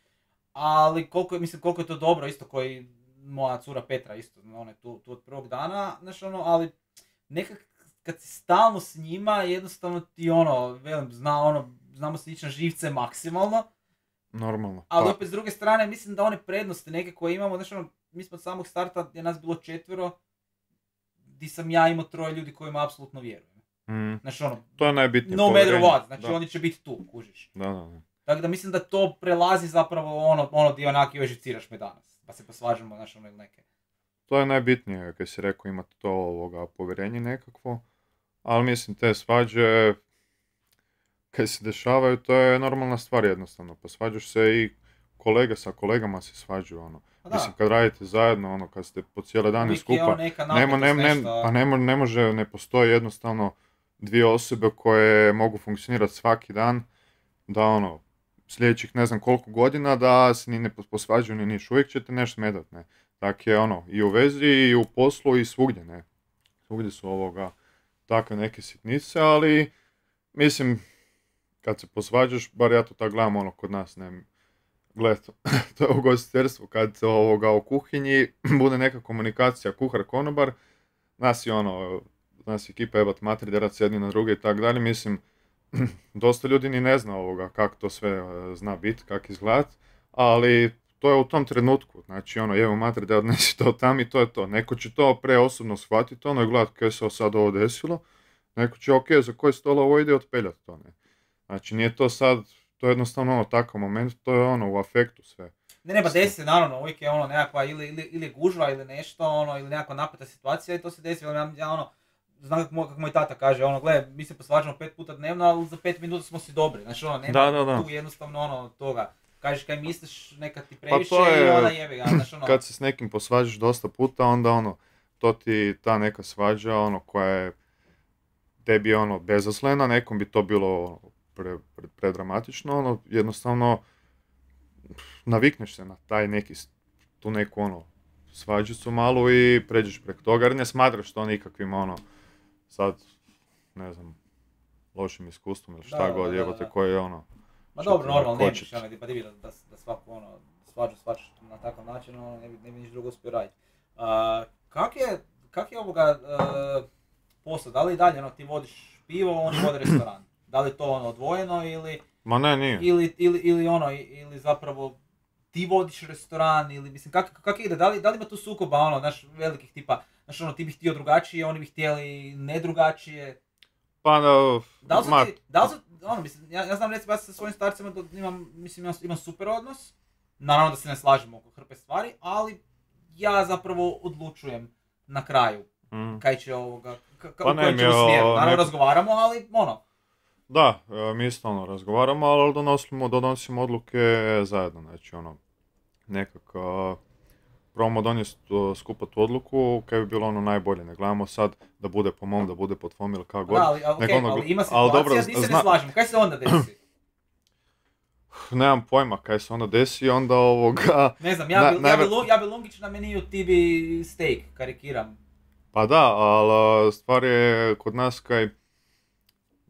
Ali koliko je to dobro, isto koji moja cura Petra isto, ona je tu od prvog dana, znaš ali nekak kad si stalno s njima, jednostavno ti znamo se ići na živce maksimalno. Normalno. Ali opet s druge strane, mislim da one prednosti neke koje imamo, znaš mi smo od samog starta, je nas bilo 4, di sam ja imao 3 ljudi kojima apsolutno vjerujem. Znaš to je najbitnije. No matter what, znači oni će biti tu, kužiš. Da. Tako da mislim da to prelazi zapravo ono di onak još živciraš me danas, pa se posvađamo, znaš ili neke. To je najbitnije, kad si rekao, imate to povjerenje nekakvo, ali mislim te svađe, kad se dešavaju, to je normalna stvar jednostavno, pa svađaš se i kolege sa kolegama se svađaju, Mislim, kad radite zajedno, kad ste po cijele dane skupa, ne postoji jednostavno 2 osobe koje mogu funkcionirati svaki dan, da sljedećih ne znam koliko godina da se ni ne posvađaju ni niš, uvijek ćete nešto smetat, ne. Tako je i u vezi, i u poslu, i svugdje, ne. Svugdje su takve neke sitnice, ali mislim, kad se posvađaš, bar ja to tako gledam kod nas, ne. Gled, to je ugostiteljstvo, kad u kuhinji bude neka komunikacija kuhar-konobar, nas je ekipa jebat matri, derat se jedni na druge i tako dalje, mislim, dosta ljudi ni ne zna kako to sve zna biti, kako izgledat, ali to je u tom trenutku, znači jevo matri da odnesi to tam i to je to. Neko će to preosobno shvatiti, i gledat kaj se sad ovo desilo, neko će za koji stol ovo ide otpeljati to, ne. Znači nije to sad, to je jednostavno takav moment, to je u afektu sve. Ne, ba desi se, naravno, uvijek je nekakva ili gužva ili nešto, ili nekakva napeta situacija i to se desi, znam kako moj tata kaže, gle, mi se posvađamo 5 puta dnevno, ali za 5 minuta smo si dobri, znači nema tu jednostavno toga. Kažeš kaj misliš, neka ti previše i onda jebi ga, znači Kad se s nekim posvađaš dosta puta, onda to ti ta neka svađa, koja je tebi bezaslena, nekom bi to bilo predramatično, jednostavno navikneš se na taj tu neku svađicu malu i pređeš preko toga, jer ne smatraš to nikakvim sad, ne znam, lošim iskustvom ili šta god jebote koje je Ma dobro, normalno, ne biš pa divi da svaku svađaš na takav način, ne bi niš drugo uspio raditi. Kak je ovoga posao, da li i dalje ti vodiš pivo, oni vode restoran? Da li to odvojeno ili... Ma ne, nije. Ili zapravo ti vodiš restoran ili mislim kako ide, da li ima tu sukoba velikih tipa, ti bi htio drugačije, oni bi htjeli ne drugačije. Pa mislim, ja znam recimo ja sa svojim starcima imam super odnos, naravno da se ne slažemo oko hrpe stvari, ali ja zapravo odlučujem na kraju kaj će ovoga, u kojem ćemo smjeru, naravno razgovaramo, ali Da, mi isto razgovaramo, ali donosimo odluke zajedno, znači nekako probamo donijeti skupa tu odluku kaj bi bilo najbolje, ne gledamo sad da bude po mom, da bude po tvom ili kako god. Da, ali ima situacija gdje se ne slažemo, kaj se onda desi? Nemam pojma kaj se onda desi, onda Ne znam, ja bi lungić na meniju, ti bi steak, karikiram. Pa da, ali stvar je kod nas kaj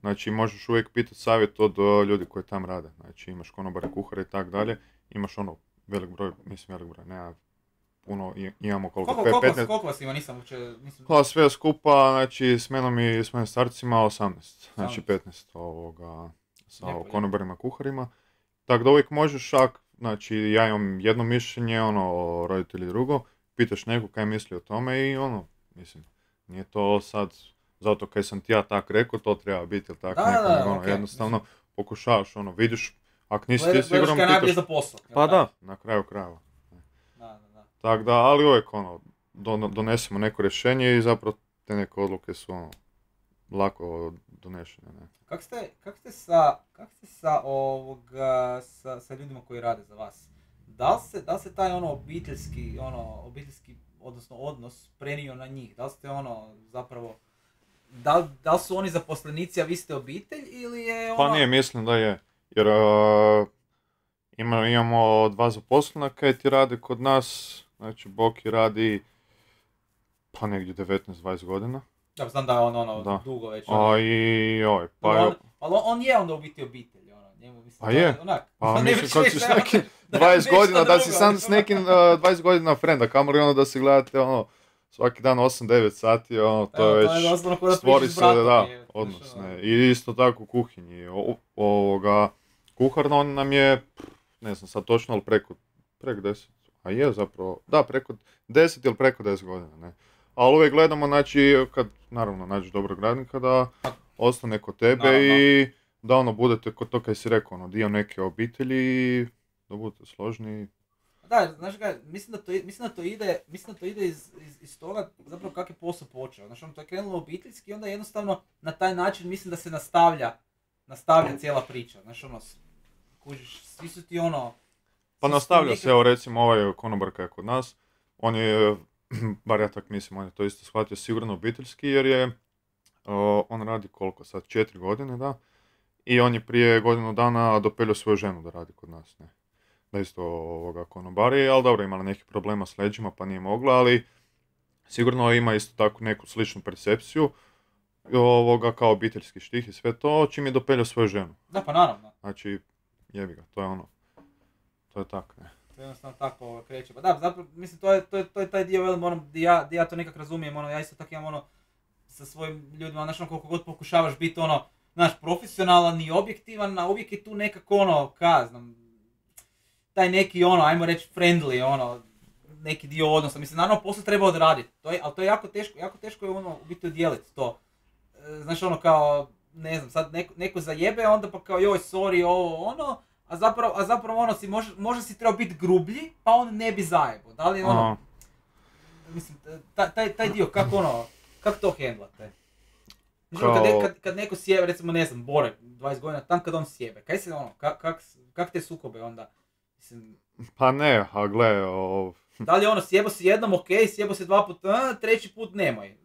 znači možeš uvijek pitati savjet od ljudi koji tam rade. Znači imaš konobare, kuhare i tak dalje, imaš ono velik broj, nema puno, imamo koliko? Koliko vas ima, nisam. Pa sve skupa, znači s menom i s mojim starcima 18, znači 15 sa konobarima, kuharima. Tako da uvijek možeš, znači ja imam jedno mišljenje, roditelji drugo, pitaš nekog kaj misli o tome i mislim, nije to sad zato kaj sam ti ja tak rekao, to treba biti ili tako okay, jednostavno pokušavaš, vidiš, ako nisi ti siguran, pitaš... za posao. Pa da, na kraju krajeva. Tako da, ali uvijek donesemo neko rješenje i zapravo te neke odluke su lako donešene. Ne? Kak ste sa ljudima koji rade za vas? Da li se taj obiteljski, odnosno odnos prenio na njih? Da li ste zapravo, da li su oni zaposlenici, a vi ste obitelj ili je Pa nije, mislim da je. Jer imamo 2 zaposlena kaj ti rade kod nas. Znači, Boki radi pa negdje 19-20 godina. Ja znam da je on dugo već. On je onda u biti obitelj. Pa je. Pa mislim, kad si s nekim 20 godina, da si sam s nekim 20 godina frenda, kamoli da si gledate svaki dan 8-9 sati, to je već stvori se odnos. I isto tako u kuhinji. Kuhar nam je, ne znam sad točno, ali preko 10. A je zapravo, da, preko 10 ili preko 10 godina, ne. Ali uvijek gledamo, znači, kad naravno nađeš dobrog radnika, da ostane kod tebe i da budete kod to kaj si rekao, dio neke obitelji i da budete složni. Da, znaš ga, mislim da to ide iz toga zapravo kak je posao počeo. Znači, to je krenulo obiteljski i onda jednostavno na taj način mislim da se nastavlja cijela priča. Znači, kužiš, svi su ti Pa nastavlja se, evo recimo ovaj konobar kaj je kod nas, on je, bar ja tak mislim, on je to isto shvatio sigurno obiteljski jer je, on radi koliko sad, 4 godine, da, i on je prije godinu dana dopelio svoju ženu da radi kod nas, ne. Da isto konobari, ali dobro, imala nekih problema s leđima pa nije mogla, ali sigurno ima isto tako neku sličnu percepciju kao obiteljski štih i sve to, čim je dopelio svoju ženu. Da, pa naravno. Znači, jebi ga, to je to je tako, ne. To je jednostavno tako kreće. Pa da, zapravo, mislim, to je taj dio, di ja to nekak razumijem, ja isto tako imam sa svojim ljudima, znaš, koliko god pokušavaš biti profesionalan i objektivan, a uvijek je tu nekako taj neki ajmo reći friendly, neki dio odnosa. Mislim, naravno posao treba odraditi, ali to je jako teško je u biti odijeliti to. Znaš, kao, ne znam, sad neko zajebe, onda pa kao joj, sorry, a zapravo si možda si trebao biti grublji, pa on ne bi zajebo. Da li mislim, taj dio, kako to hendlate? Kad neko sjebe, recimo, ne znam, Bore, 20 godina, tam kad on sjebe, kaj se kak te sukobe onda? Mislim, pa ne, a gle, Da li sjebo si jednom, ok, sjebo si 2 puta, treći put nemoj.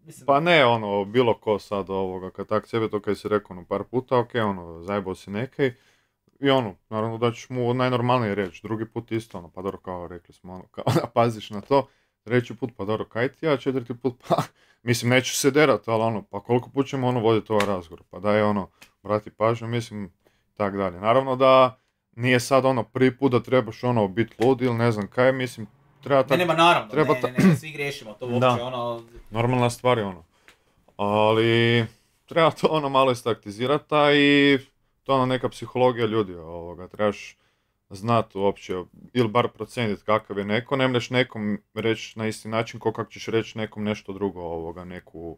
Mislim... Pa ne, bilo ko sad kad tak sjebe, to kaj si rekao, par puta, ok, zajebao si nekaj. I naravno da ćeš mu najnormalnije reći, drugi put isto, pa dobro, kao rekli smo, kao da paziš na to, 3. put, pa dobro, kaj ti ja, 4. put, pa, mislim, neću se derat, ali pa koliko put ćemo voditi ovaj razgovor, pa daj brati pažnju, mislim, tak dalje. Naravno da nije sad prvi put da trebaš biti lud ili ne znam kaj, mislim, treba tako... Nema naravno, ne, svi griješimo, to uopće normalna stvar je ali treba to malo istaktizirati, i to neka psihologija ljudi, trebaš znati uopće, ili bar procijeniti kakav je neko, ne mreš nekom reći na isti način kao kako ćeš reći nekom nešto drugo, neku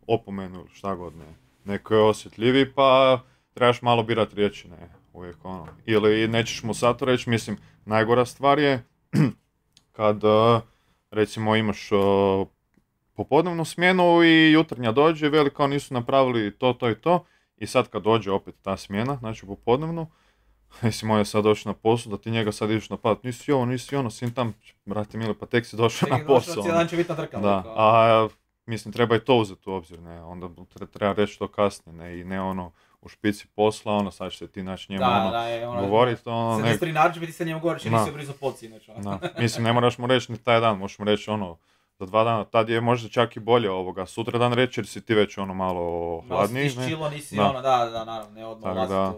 opomenu ili šta god, ne. Neko je osjetljiviji, pa trebaš malo birati riječi, ne, uvijek Ili nećeš mu sad to reći, mislim, najgora stvar je kad, recimo, imaš popodnevnu smjenu i jutarnja dođe, veli kao nisu napravili to i to, i sad kad dođe opet ta smjena, znači popodnevnu, mislim, on je sad došao na posao, da ti njega sad ideš napadat, nisi ono, sin tam, brate mili, pa tek si došao na posao. Cijel će biti nadrkal. Da, a mislim, treba i to uzeti u obzir, ne, onda treba reći to kasnije, ne, i ne u špici posla, sad će se ti naći njemu govoriti, ne. 73 narudžbe ti se njemu govori, će nisi obrizo pod sinoć. Mislim, ne moraš mu reći ni taj dan, možeš mu reći za 2 dana, tad je možda čak i bolje sutra dan reći jer si ti već ono malo hladniji, Nosiš čilo, nisi Da. ono, da, naravno, ne odmah Tako ulaziti da,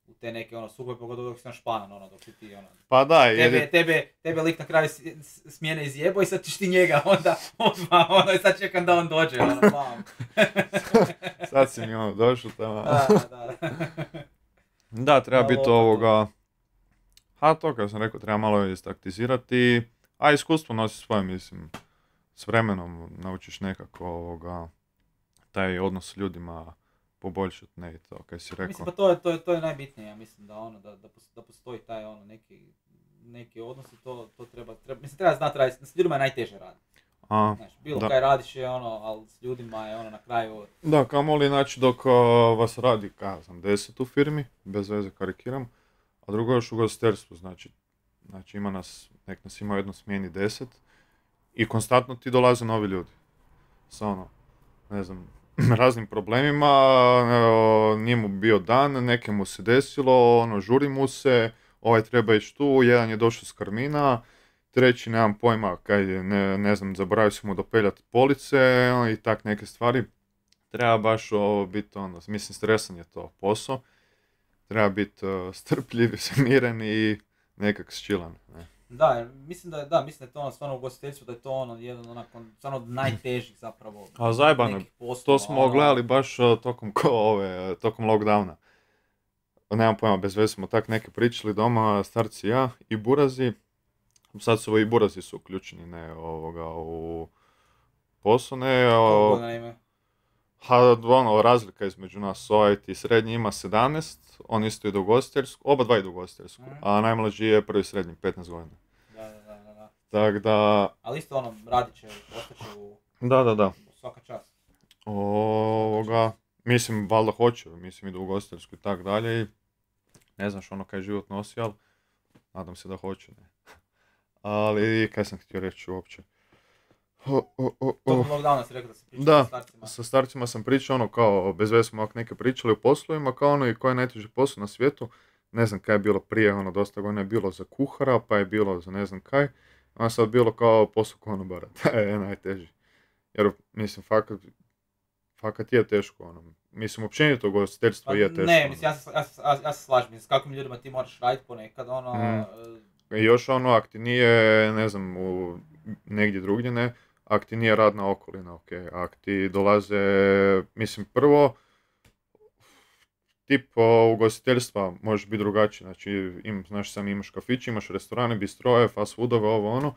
u te neke sukobe, pogotovo dok si na španan, dok si ti pa da, jer tebe lik na kraju smjene izjebo i sad ćeš ti njega odmah, i sad čekam da on dođe, bam. sad si mi došao tamo. Da. Da, treba biti to kad sam rekao, treba malo istaktizirati, a iskustvo nosi svoje, mislim, s vremenom naučiš nekako taj odnos s ljudima poboljšati, ne i to, kaj si rekao. Mislim, pa to je najbitnije, ja mislim, da postoji taj neki odnos i to treba, mislim, treba znati raditi, s ljudima je najteže raditi. Znaš, bilo kaj radiš je ali s ljudima je na kraju... Da, kamoli, znači dok vas radi, 10 u firmi, bez veze karikiram, a drugo još u ugostiteljstvu, znači ima nek nas ima u jednoj smjeni 10 i konstantno ti dolaze novi ljudi. Sa ne znam, raznim problemima, nije mu bio dan, nekemu se desilo, žuri mu se, ovaj treba ići tu, jedan je došao s Karmina, treći nemam pojma, ne znam, zaboravio sam mu dopeljati police i tak neke stvari. Treba baš biti mislim, stresan je to posao. Treba biti strpljiv, smiren i nekak sčilan. Ne. Da, mislim da je to stvarno u ugostiteljstvu, da je to jedan stvarno od najtežih zapravo. A zajebano, to smo gledali baš tokom lockdowna. Nemam pojma, bez veze smo tak neke pričali doma, starci ja i burazi. Sad su i burazi su uključeni, ne, u posao, ne. Razlika između nas, ti srednji ima 17, on isto ide u ugostiteljsku, oba dva idu u ugostiteljsku, a najmlađi je prvi srednji, 15 godina. Da. Tak da... Ali isto radit će, ostaće u... Da. Svaka čast. Mislim, valjda hoće, mislim idu u ugostiteljsku i tak dalje i ne znaš kaj život nosi, ali nadam se da hoće, ne. Ali, kaj sam htio reći uopće? Tokom lockdowna si rekao da si pričao sa starcima. Da, sa starcima sam pričao kao, bez veze smo neke pričali o poslovima, kao i koji je najteži posao na svijetu. Ne znam kaj je bilo prije, dosta godina je bilo za kuhara, pa je bilo za ne znam kaj. A sad bilo kao posao konobara, taj je najteži. Jer, mislim, fakat je teško, Mislim, općenito ugostiteljstvo je teško. Ne, mislim, ja se slažem, s kakvim ljudima ti moraš raditi ponekad, I još ak ti nije, ne znam, negdje drugdje, ne, ak ti nije radna okolina, ok, ak ti dolaze, mislim, prvo, tip ugostiteljstva može biti drugačiji, znači, znaš sam, imaš kafić, imaš restorane, bistroje, fast foodove,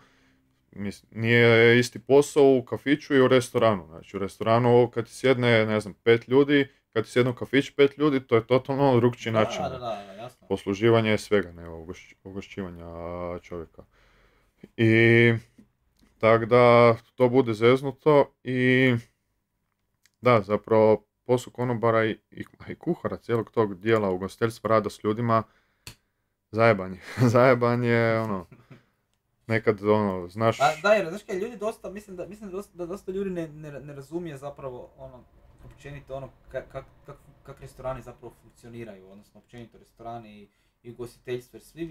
mislim, nije isti posao u kafiću i u restoranu, znači, u restoranu kad ti sjedne, ne znam, 5 ljudi, kad ti sjedne u kafić 5 ljudi, to je totalno drugčiji način. Da, jasno. Posluživanje je svega, ne, ugošćivanja čovjeka. I tako da to bude zeznuto i da, zapravo posao konobara i kuhara cijelog tog dijela ugostiteljstva, rada s ljudima, zajebanje, nekad, znaš... Da, jer, znaš kaj, ljudi dosta, mislim da dosta ljudi ne razumije zapravo, općenito, kak restorani zapravo funkcioniraju, odnosno općenito restorani i ugostiteljstvo, jer svi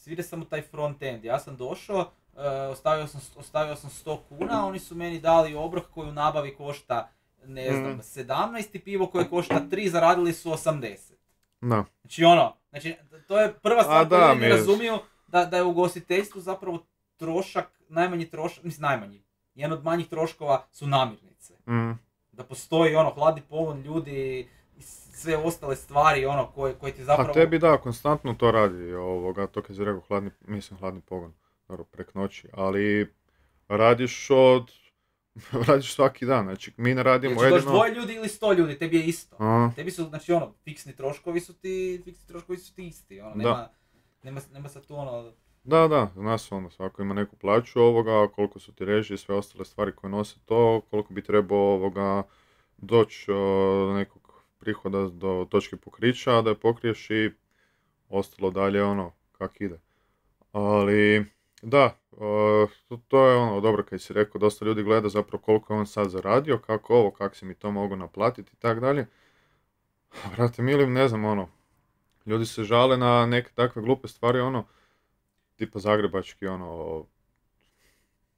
vide samo taj front end. Ja sam došao, ostavio sam 100 kuna, oni su meni dali obrok koji u nabavi košta, ne znam, 17 i pivo koje košta 3, zaradili su 80. No. Znači, to je prva stvar koju ljudi ne razumiju, da je u ugostiteljstvu zapravo najmanji trošak, mislim najmanji, jedan od manjih troškova su namirnice. Da postoji hladni pogon, ljudi i sve ostale stvari koje ti zapravo... A tebi da, konstantno to radi, to kad si rekao hladni pogon, dobro, prek noći, ali radiš svaki dan, znači mi ne radimo jedino... Znači, 2 ljudi ili 100 ljudi, tebi je isto. Tebi su, znači fiksni troškovi su ti isti, nema sad tu Da, nas svako ima neku plaću koliko su ti režije i sve ostale stvari koje nose to, koliko bi trebao doći do nekog prihoda do točke pokrića, da je pokriješ i ostalo dalje kak ide. Ali, da, to je dobro kad si rekao, dosta ljudi gleda zapravo koliko je on sad zaradio, kako si mi to mogu naplatiti i tak dalje. Vrate mili, ne znam, ljudi se žale na neke takve glupe stvari, tipa zagrebački,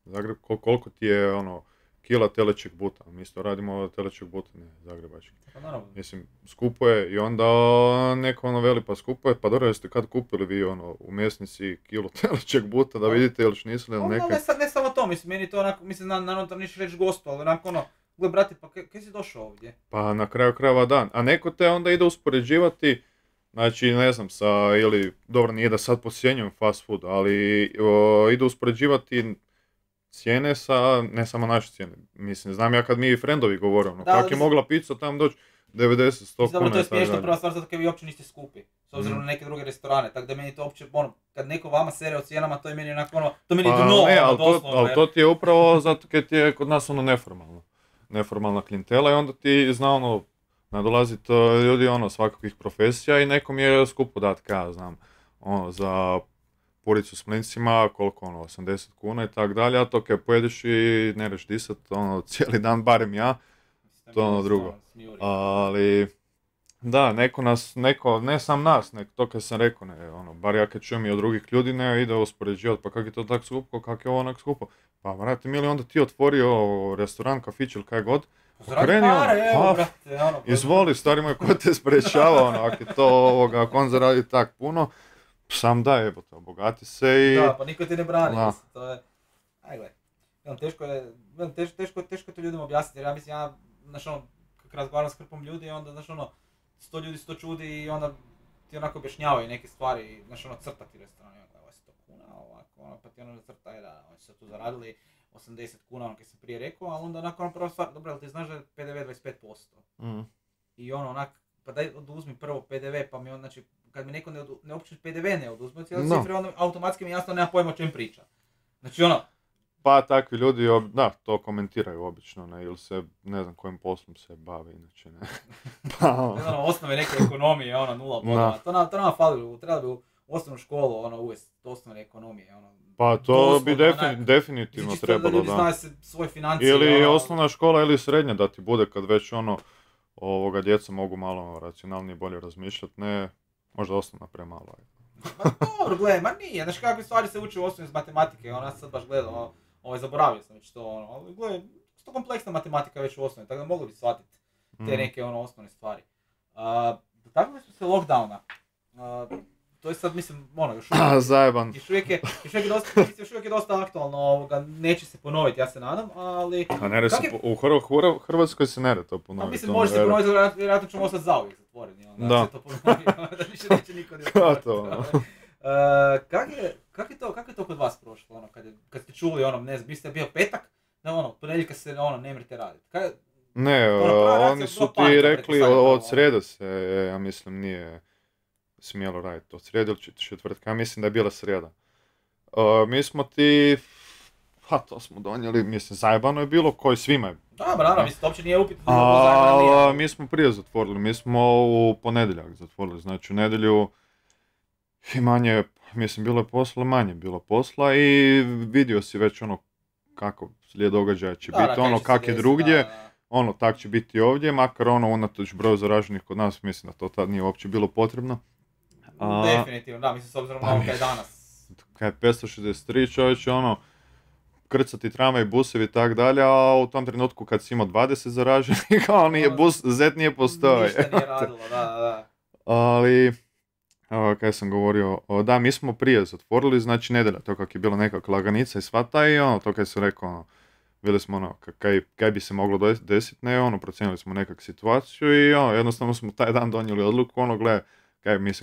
Zagreb, koliko ti je ono, kila telećeg buta, mi isto radimo telećeg buta, ne, zagrebački. Pa naravno. Mislim, skupo je i onda neko ono veli pa skupo je, pa dobro jeste kad kupili vi ono u mjesnici kilo telećeg buta da vidite još nisu li neke... Ne samo to, mislim, meni to onako, mislim, naravno da niš reći gostu, ali onako ono, gle brate, pa kaj si došao ovdje? Pa na kraju krajeva dan, a neko te onda ide uspoređivati, znači ne znam sa, ili, dobro nije da sad posjenjujem fast food, ali ide uspoređivati cijene sa, ne samo naše cijene, mislim, znam ja kad mi frendovi govore, ono, kak je mogla pizza tam doći 90-100 kuna. To je smiješno prva stvar, zato kad vi uopće niste skupi, s obzirom na neke druge restorane, tako da meni to uopće, ono, kad neko vama sere o cijenama, to je meni onako ono, to meni dno, ne, ono, doslovno. Ali to ti je upravo zato kad ti je kod nas ono neformalna klijentela i onda ti zna ono, nadolazit ljudi ono svakakvih profesija i nekom je skupo dat, ja znam, ono, za puricu s mlincima, koliko ono, 80 kuna i tak dalje, a to kad pojedeš i ne reš disat, ono, cijeli dan, barem ja, to ono drugo. Ali, da, neko, ne sam nas, to kad sam rekao, ne, ono, bar ja kad čujem i od drugih ljudi, ne, ide uspoređivati, pa kak je to tak skupo, kak je ovo onak skupo. Pa, vrati, mili, onda ti otvorio restoran, kafić ili kaj god, kreni ono, brate, ono, izvoli, stari moj, ko te sprečava, ono, ako je to ovoga, ako on zaradi tak puno, sam daj, jebote, obogati se i... Da, pa niko ti ne brani, mislim, to je... Aj, gledaj, teško je to ljudima objasniti, jer ja mislim, znaš ono, kako razgovaram s hrpom ljudi, onda, znaš ono, 100 ljudi 100 čudi i onda ti onako objašnjavaju neke stvari, znaš ono, crta ti restoran, onda, ovo je 100 kuna, ovako, ono, pa ti ono crta je da, oni su tu zaradili 80 kuna, ono, kad sam prije rekao, ali onda onako, ono, prva stvar, dobro, ali ti znaš da je PDV 25%. I ono, onak, pa daj oduzmi prvo PDV, pa mi on, znači, kad mi neko ne uopće PDV ne oduzme od cijele cifre, onda automatski mi jasno nema pojma o čem priča. Znači ono... Pa takvi ljudi, da, to komentiraju obično, ne, ili se, ne znam kojim poslom se bave, inače, ne. Pa, ne znam, osnove neke ekonomije, ono, 0 bodova. To nama fali, treba bi u osnovnu školu, ono, uvesti osnovne ekonomije, ono. Pa to bi definitivno trebalo, da. Ljudi znaju se svoje financije. Ili osnovna škola ili srednja da ti bude kad već ono, djeca mogu malo racionalnije bolje razmišljati, ne, možda osnovna premalo. Ma dobro, gledaj, ma nije, znaš kakve stvari se uči u osnovi iz matematike, ono, ja sam sad baš gledao, zaboravio sam već to, ono, ali gledaj, to kompleksna matematika već u osnovi, tako da mogli bi shvatiti te neke, ono, osnovne stvari. Dotaknuli smo se lockdowna, to je sad, mislim, ono, još uvijek je dosta aktualno, neće se ponoviti, ja se nadam, ali... A ne u Hrvatskoj se ne to ponoviti. A mislim, može se ponoviti, vjerojatno ćemo ostati zauvijek zatvoreni, da se to ponovi, da više neće niko ne otvoriti. Kako je to kod vas prošlo, ono, kad ste čuli, ono, ne znam, biste bio petak, ono, ponedjeljka se, ono, ne mrete raditi. Ne, oni su ti rekli, od sreda se, ja mislim, nije smjelo raditi, od sreda ili četvrtka, ja mislim da je bila sreda. Mi smo ti, pa to smo donijeli, mislim, zajebano je bilo, koji svima je. Da, naravno, mislim, to uopće nije upitno. Ali mi smo prije zatvorili, mi smo u ponedjeljak zatvorili, znači u nedjelju i manje, mislim, bilo je posla, manje bilo posla i vidio si već ono kako slijed događaja će biti, ono kak je drugdje, ono tak će biti ovdje, makar ono unatoč broju zaraženih kod nas, mislim da to tad nije uopće bilo potrebno. Definitivno, da, mislim, s obzirom na ovo kaj je danas. Kaj je 563 čovječe, ono, krcati tramvaj i busevi i tak dalje, a u tom trenutku kad si imao 20 zaraženih, kao nije bus, zet nije postojao. Ništa nije radilo, da. Ali, kaj sam govorio, da, mi smo prije zatvorili, znači nedelja, to kak je bila nekakva laganica i svata i ono, to kaj sam rekao, ono, bili smo ono, kaj bi se moglo desiti, ne, ono, procijenili smo nekak situaciju i ono, jednostavno smo taj dan donijeli odluku, ono,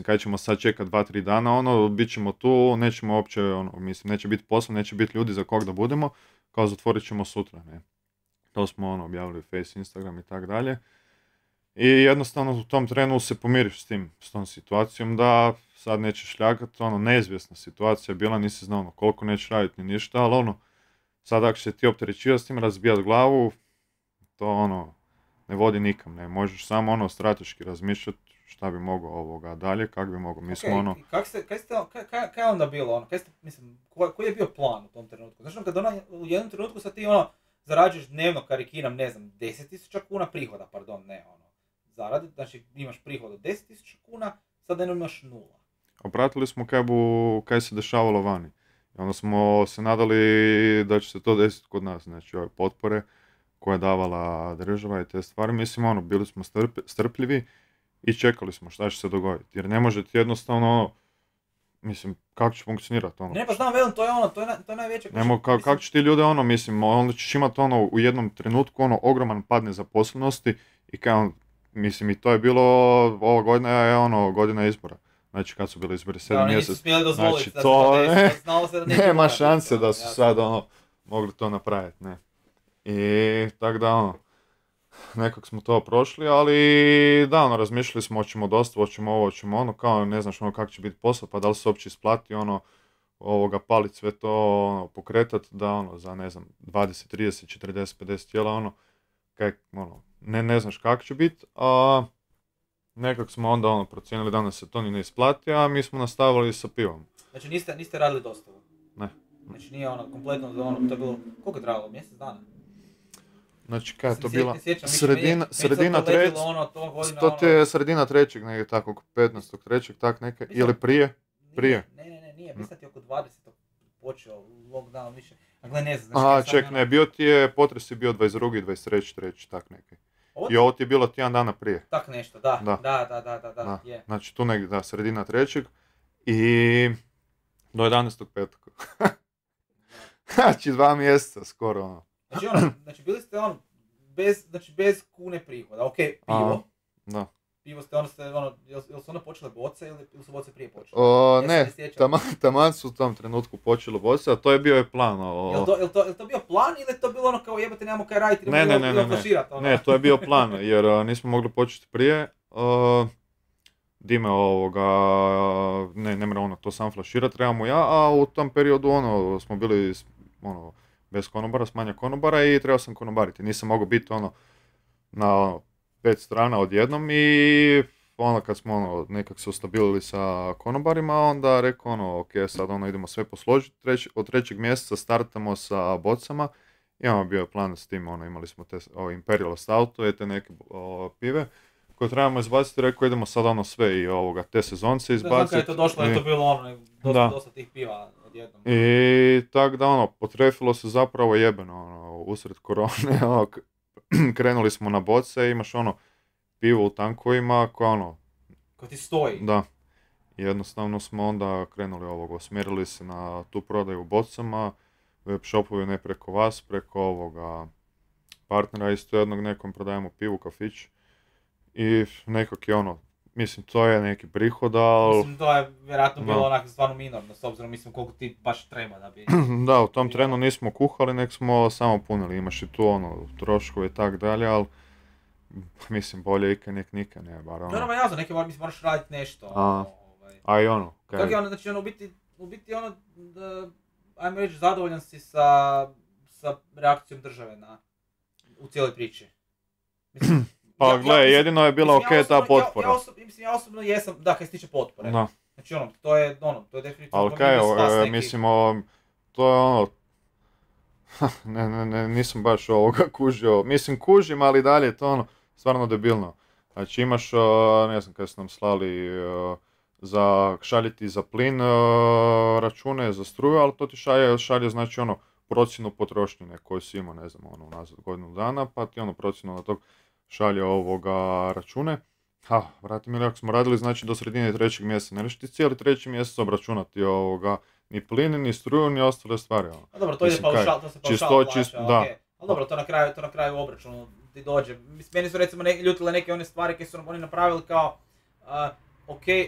kaj ćemo sad čekati 2-3 dana, ono, bit ćemo tu, nećemo uopće, ono, mislim, neće biti posla, neće biti ljudi za kog da budemo, kao zatvorit ćemo sutra, ne. To smo, ono, objavili Face, Instagram i tak dalje. I jednostavno u tom trenu se pomiriš s tom situacijom da sad nećeš ljagat, ono, neizvjesna situacija bila, nisi znao ono, koliko nećeš raditi ni ništa, ali ono, sad ako se ti opterećivati s tim, razbijat glavu, to ono, ne vodi nikam, ne, možeš samo ono strateški razmišljati šta bi mogao ovoga dalje, kako bi mogao, mi smo ono... Kaj je onda bilo, ono, mislim, koji je bio plan u tom trenutku? Znači, kad u jednom trenutku sad ti ono, zarađuješ dnevno, karikiram, ne znam, 10.000 kuna prihoda, zaradi, znači imaš prihod od 10.000 kuna, sada imaš 0. Opratili smo kaj se dešavalo vani. I onda smo se nadali da će se to desiti kod nas, znači ove potpore koje je davala država i te stvari. Mislim, bili smo strpljivi i čekali smo šta će se dogoditi. Jer ne možete jednostavno, mislim, kako će funkcionirati Ne, pa znam, velim, to je to je najveće. Kako će ti ljude, mislim, onda ćeš imati u jednom trenutku, ogroman pad nezaposlenosti i mislim, i to je bilo, ova godina je, godina izbora. Znači, kad su bili izbori 7 mjeseci. Nisu smjeli dozvoliti znači, to znalo se da nema šanse da su sad, mogli to napraviti, ne. I tako da, nekak smo to prošli, ali da, razmišljali smo, hoćemo dosta, hoćemo ovo, hoćemo ono, kao ne znaš kako će biti posao, pa da li se uopće isplati palit sve to, pokretat, da za ne znam, 20, 30, 40, 50 tijela, ne znaš kako će biti, a nekak smo onda procijenili da nas se to ni ne isplati, a mi smo nastavili sa pivom. Znači niste radili dostavu? Ne. Znači nije kompletno, to je bilo, koliko je trajalo, mjesec dana? Znači kada je to bila sredina trećeg, negdje tako, oko 15.3. tak neke, ili prije? Nije, mislim ti oko 20. počeo lockdown više, a gle ne znam. Aha, ne, bio ti je, potres je bio 22. 23. tak neki. I ovo ti je bilo tjedan dana prije. Tak nešto, da, je. Znači tu negdje, sredina trećeg i do 11.5. Znači 2 mjeseca skoro, Znači bili ste bez kune prihoda, ok, pivo. Da. Pivo ste, jel su počele boce ili su boce prije počele? Taman su u tom trenutku počele boce, a to je bio je plan. Jel to bio plan ili je to bilo kao jebate nemamo kaj raditi, Ne, to je bio plan, jer nismo mogli početi prije. Dime ne mora to sam flaširati, trebamo ja, a u tom periodu smo bili bez konobara, s manja konobara i trebao sam konobariti. Nisam mogao biti na 5 strana odjednom i kad smo nekak se ustabilili sa konobarima, onda rekao ok, sad idemo sve posložiti, od 3. mjeseca startamo sa bocama. Imamo bio plan s tim, imali smo te Imperial Stoutu i te neke pive koje trebamo izbaciti, rekao idemo sad sve i te sezonce izbaciti. Znam kada je to došlo, je to bilo dosta tih piva odjednom. I tak da potrefilo se zapravo jebeno, usred korone, krenuli smo na boce, imaš pivo u tankovima koje ko ti stoji. Da. Jednostavno smo onda krenuli osmjerili se na tu prodaju u bocama, web shopovi ne preko vas, preko partnera isto jednog, nekom prodajemo pivu, kafić. I nekak je mislim to je neki prihod, ali... Mislim to je vjerojatno bilo onako stvarno minorno, s obzirom mislim koliko ti baš treba da bi... Da, u tom trenu nismo kuhali, nek smo samo punili, imaš i tu troškove i tak dalje, ali mislim bolje ikaj nek nikaj, ne, bar No, jasno, neki moraš raditi nešto. A i kaj? Kako je znači u biti ajmo reći, zadovoljan si sa reakcijom države u cijeloj priči. Mislim, pa gle, jedino je bila ta potpora. Ja osobno jesam, da, kaj se tiče potpore. No. Znači to je definitivno... Ali kaj, mislim, to je nisam baš kužio. Mislim, kužim, ali dalje je to stvarno debilno. Znači imaš, ne znam kada su nam slali šaljiti za plin račune za struju, ali to ti šalje znači procjenu potrošnje koju si imao, ne znam, unazad godinu dana, pa ti procjenu na tog šalje račune. Vrati mi, ako smo radili znači do sredine 3. mjeseca, ne ti cijeli 3. mjesec obračunati ni plin, ni struju, ni ostale stvari. A dobro, to ide paušal, to se paušal plaća, da. Ali dobro, to na kraju obračunu ti dođe. Meni su recimo ljutile neke one stvari koje su oni napravili kao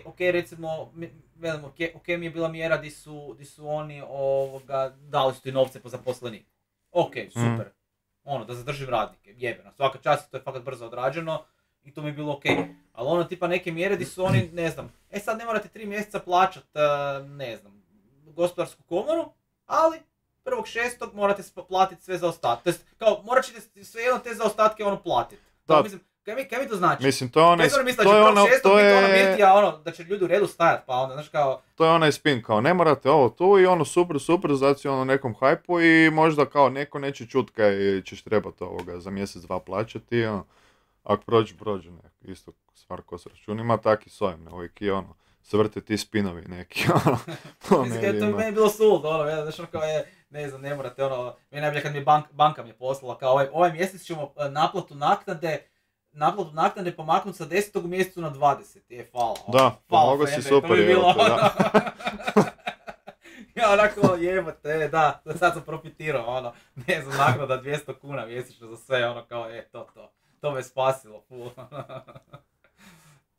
ok, recimo, ok mi je bila mjera di su oni dali su ti novce po zaposleniku. Ok, super. Da zadržim radnike, jebeno. Svaka čast, to je fakat brzo odrađeno i to mi je bilo ok. Ali tipa neke mjere di su oni, ne znam, sad ne morate 3 mjeseca plaćat, ne znam, gospodarsku komoru, ali 1.6. morate platiti sve zaostatke. To jest, kao, morat ćete sve jedno te zaostatke platiti. Mislim, kaj mi to znači? Mislim, to je onaj... da će ljudi u redu stajati, pa onda, znaš kao... To je onaj spin, kao ne morate ovo tu i super, znači nekom hajpu i možda kao neko neće čut kaj ćeš trebati za mjesec, dva plaćati, ako prođe, ne. Isto stvar ko s računima, tak i s ovim, uvijek je se vrte ti spinovi neki, ono, po Mislim, to je medijima. meni bilo suludo, ono, znaš, ono kao je, ne znam, ne morate, ono, meni najbolje kad mi je banka mi je poslala, kao ovaj mjesec ćemo naplatu naknade pomaknuti sa 10. u mjesecu na 20. Hvala. Da, pomogao si super, to bi bilo, evo te, da. Ja onako jebote, da, sad sam profitirao, ono, ne znam, naknada 200 kuna mjesečno za sve, ono kao, to me spasilo, full.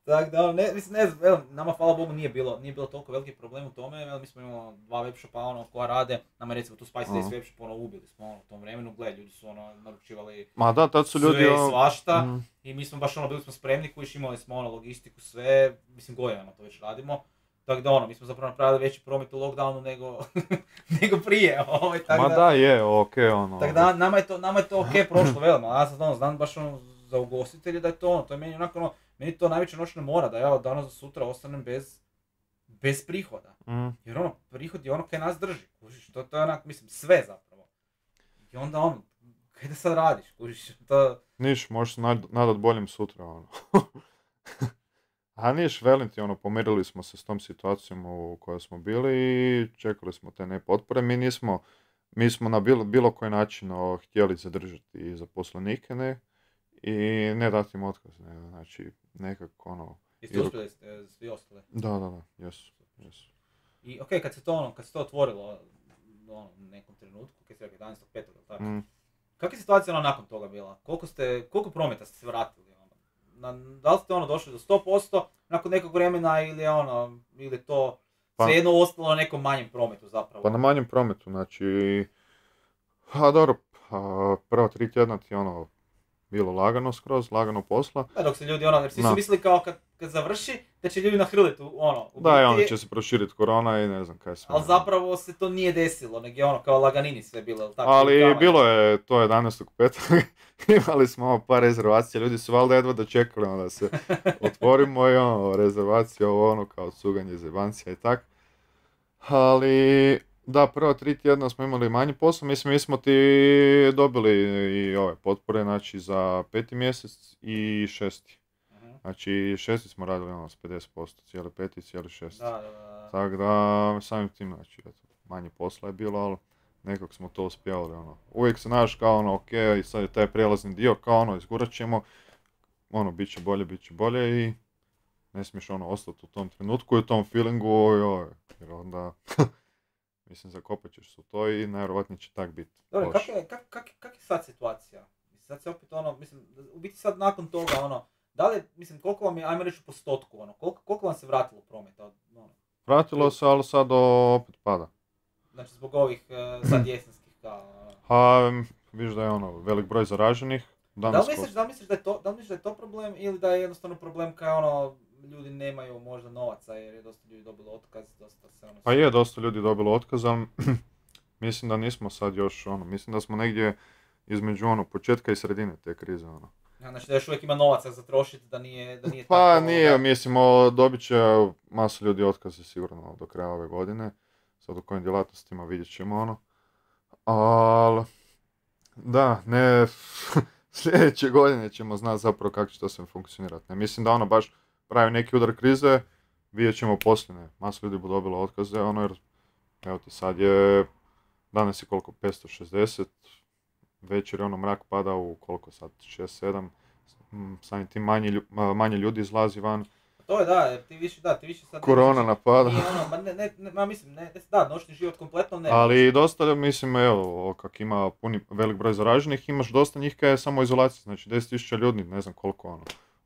Tako da, ne znam, evo, nama hvala Bogu nije bilo toliko veliki problem u tome, evo, mi smo imali 2 webshopa, ono, koja rade, nama recimo tu Spicy Days webshop, ono, ubili smo, ono, u tom vremenu, gle, ljudi su, ono, naručivali Ma da, tad su ljudi, sve i svašta, i mi smo baš, ono, bili smo spremni, kojiš, imali smo, ono, logistiku, sve, mislim, godinama to već radimo. Tako da ono, mi smo zapravo napravili veći promet u lockdownu nego prije. Ma da, je, okej, ono. Tako da nama je to okej prošlo veoma, a ja sad ono, znam baš ono za ugostitelje da je to ono, to je meni onako ono, meni to najveća noćna mora da ja od danas do sutra ostanem bez prihoda. Jer ono, prihod je ono kaj nas drži, kužiš, to je onak, mislim, sve zapravo. I onda ono, kaj da sad radiš, kužiš, to... Niš, možeš se nadat boljim sutra, ono. A niš, velim ti, ono, pomirili smo se s tom situacijom u kojoj smo bili i čekali smo te nepotpore. Mi smo na bilo koji način htjeli zadržati i zaposlenike, ne, i ne dati im otkaz, ne, znači, nekako, ono... Jeste uspjeli ste svi ostali? Da, jesu. I okej, kad se to otvorilo, ono, u nekom trenutku, kad se rekao 11.5. tako, kakva je situacija nakon toga bila? Koliko prometa ste se vratili? Da li ste ono došli do 100% nakon nekog vremena ili to svejedno ostalo na nekom manjem prometu zapravo? Pa na manjem prometu, znači, dobro, prva 3 tjedna ti ono bilo lagano posla. Da, dok se ljudi jer svi su mislili kao kad završi da će ljudi nahrliti Da, i onda će se proširiti korona i ne znam kaj sve. Ali zapravo se to nije desilo, nego je kao laganini sve bilo. Tako, ali bilo je to 11.5. Imali smo par rezervacija, ljudi su valjda jedva dočekali da se otvorimo i rezervacija kao cuganje zebancija i tak. Ali da, prva 3 tjedna smo imali manji posao, mislim mi smo ti dobili i ove potpore, znači za 5. mjesec i 6. Znači 6. smo radili s 50%, cijeli 5. i cijeli 6. Da. Tako da samim tim, znači, manje posla je bilo, ali nekako smo to uspjeli, Uvijek se znaš kao ok, i sad je taj prijelazni dio, kao izgurat ćemo, bit će bolje i ne smiješ ostati u tom trenutku i u tom feelingu, jer onda, mislim, zakopat ćeš se u to i najvjerojatnije će tak biti. Dobro, kak je sad situacija? Sad se opet mislim, u biti sad nakon toga, da li, mislim, koliko vam je, ajmo reći u postotku, koliko vam se vratilo prometa? Vratilo se, ali sad opet pada. Znači zbog ovih sad jesenskih vidiš da je velik broj zaraženih. Da li misliš da je to problem ili da je jednostavno problem kao ljudi nemaju možda novaca jer je dosta ljudi dobilo otkaz, dosta se Pa je, dosta ljudi dobilo otkaz, ali mislim da nismo sad još mislim da smo negdje između početka i sredine te krize Znači da još uvijek ima novaca za trošiti, da nije pa tako... nije, mislim, dobit će masu ljudi otkaze sigurno do kraja ove godine. Sad u kojim djelatnostima vidjet ćemo ali da, ne, sljedeće godine ćemo znati zapravo kako će to sve funkcionirati. Ne mislim da baš pravi neki udar krize, vidjet ćemo poslije, masu ljudi bu dobilo otkaze, jer evo ti sad je, danas je koliko, 560, večer je mrak pada u koliko sad, 6-7, samim tim manje ljudi izlazi van. To je da, ti više sad... Korona napada. Noćni život kompletno ne. Ali dosta, mislim, evo, kak ima velik broj zaraženih, imaš dosta njih kaj je samo izolacija, znači 10.000 ljudi, ne znam koliko,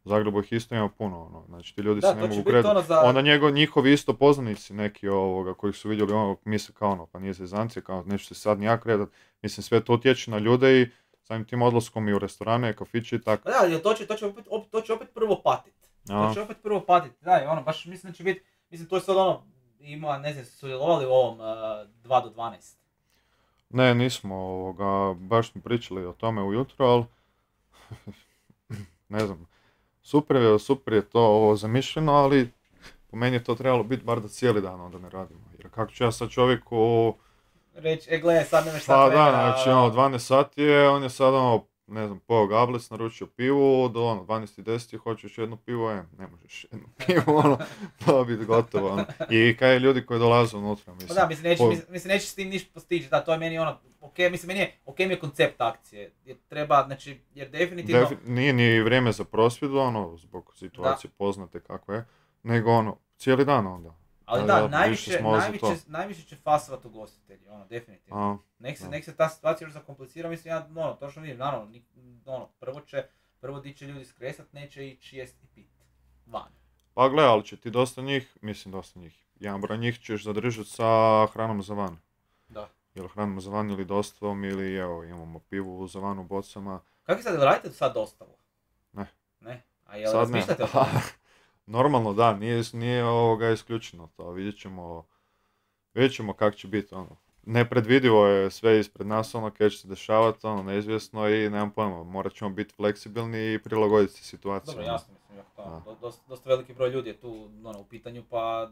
U Zagrebu ih isto ima puno, znači ti ljudi se ne mogu kretati. Onda njihovi isto poznanici neki koji su vidjeli misle kao pa nije zezancija, kao neću se sad nijak kretat, mislim sve to utječe na ljude i samim tim odlaskom i u restorane, kafiće i tako. Da, to će opet prvo patiti. Da, baš mislim da će biti, mislim to je sad ima, ne znam, sudjelovali u ovom 2 do 12. Ne, nismo, baš smo pričali o tome ujutro, ali ne znam, super je to zamišljeno, ali po meni je to trebalo biti bar da cijeli dan onda ne radimo, jer kako ću ja sad čovjeku... Reći, gledaj, sad nemaš sad vremena... Pa da, znači 12 sati je, on je sad ne znam, pojeo gablec, naručio pivu, do 12:10 hoćeš jedno pivo, ne možeš jedno pivo, to biti gotovo, I kaj ljudi koji dolaze unutra, mislim. Da, mislim, neće s tim ništa postići, da, to je meni meni je, mi je koncept akcije, jer treba, znači, jer definitivno... Nije ni vrijeme za prosvjedu, zbog situacije poznate kako je, nego cijeli dan onda. Ali da, najviše će fasovat ugostitelji, definitivno. Nek se ta situacija još zakomplicira, mislim, ja, točno vidim, naravno, prvo di će ljudi skresat, neće ići jest i pit, van. Pa gle, ali će ti dosta njih, jedan broj njih ćeš zadržati sa hranom za van. Da. Ili hranom za van ili dostavom, ili evo, imamo pivu za van u bocama. Kako sad, radite sad dostavu? Ne? A jel razmišljate o tome? Normalno da, nije isključeno to, vidjet ćemo kako će biti, Nepredvidivo je sve ispred nas, kaj će se dešavati, neizvjesno i nemam pojma, morat ćemo biti fleksibilni i prilagoditi se situaciji. Dobro, jasno, mislim, dosta veliki broj ljudi je tu, u pitanju, pa,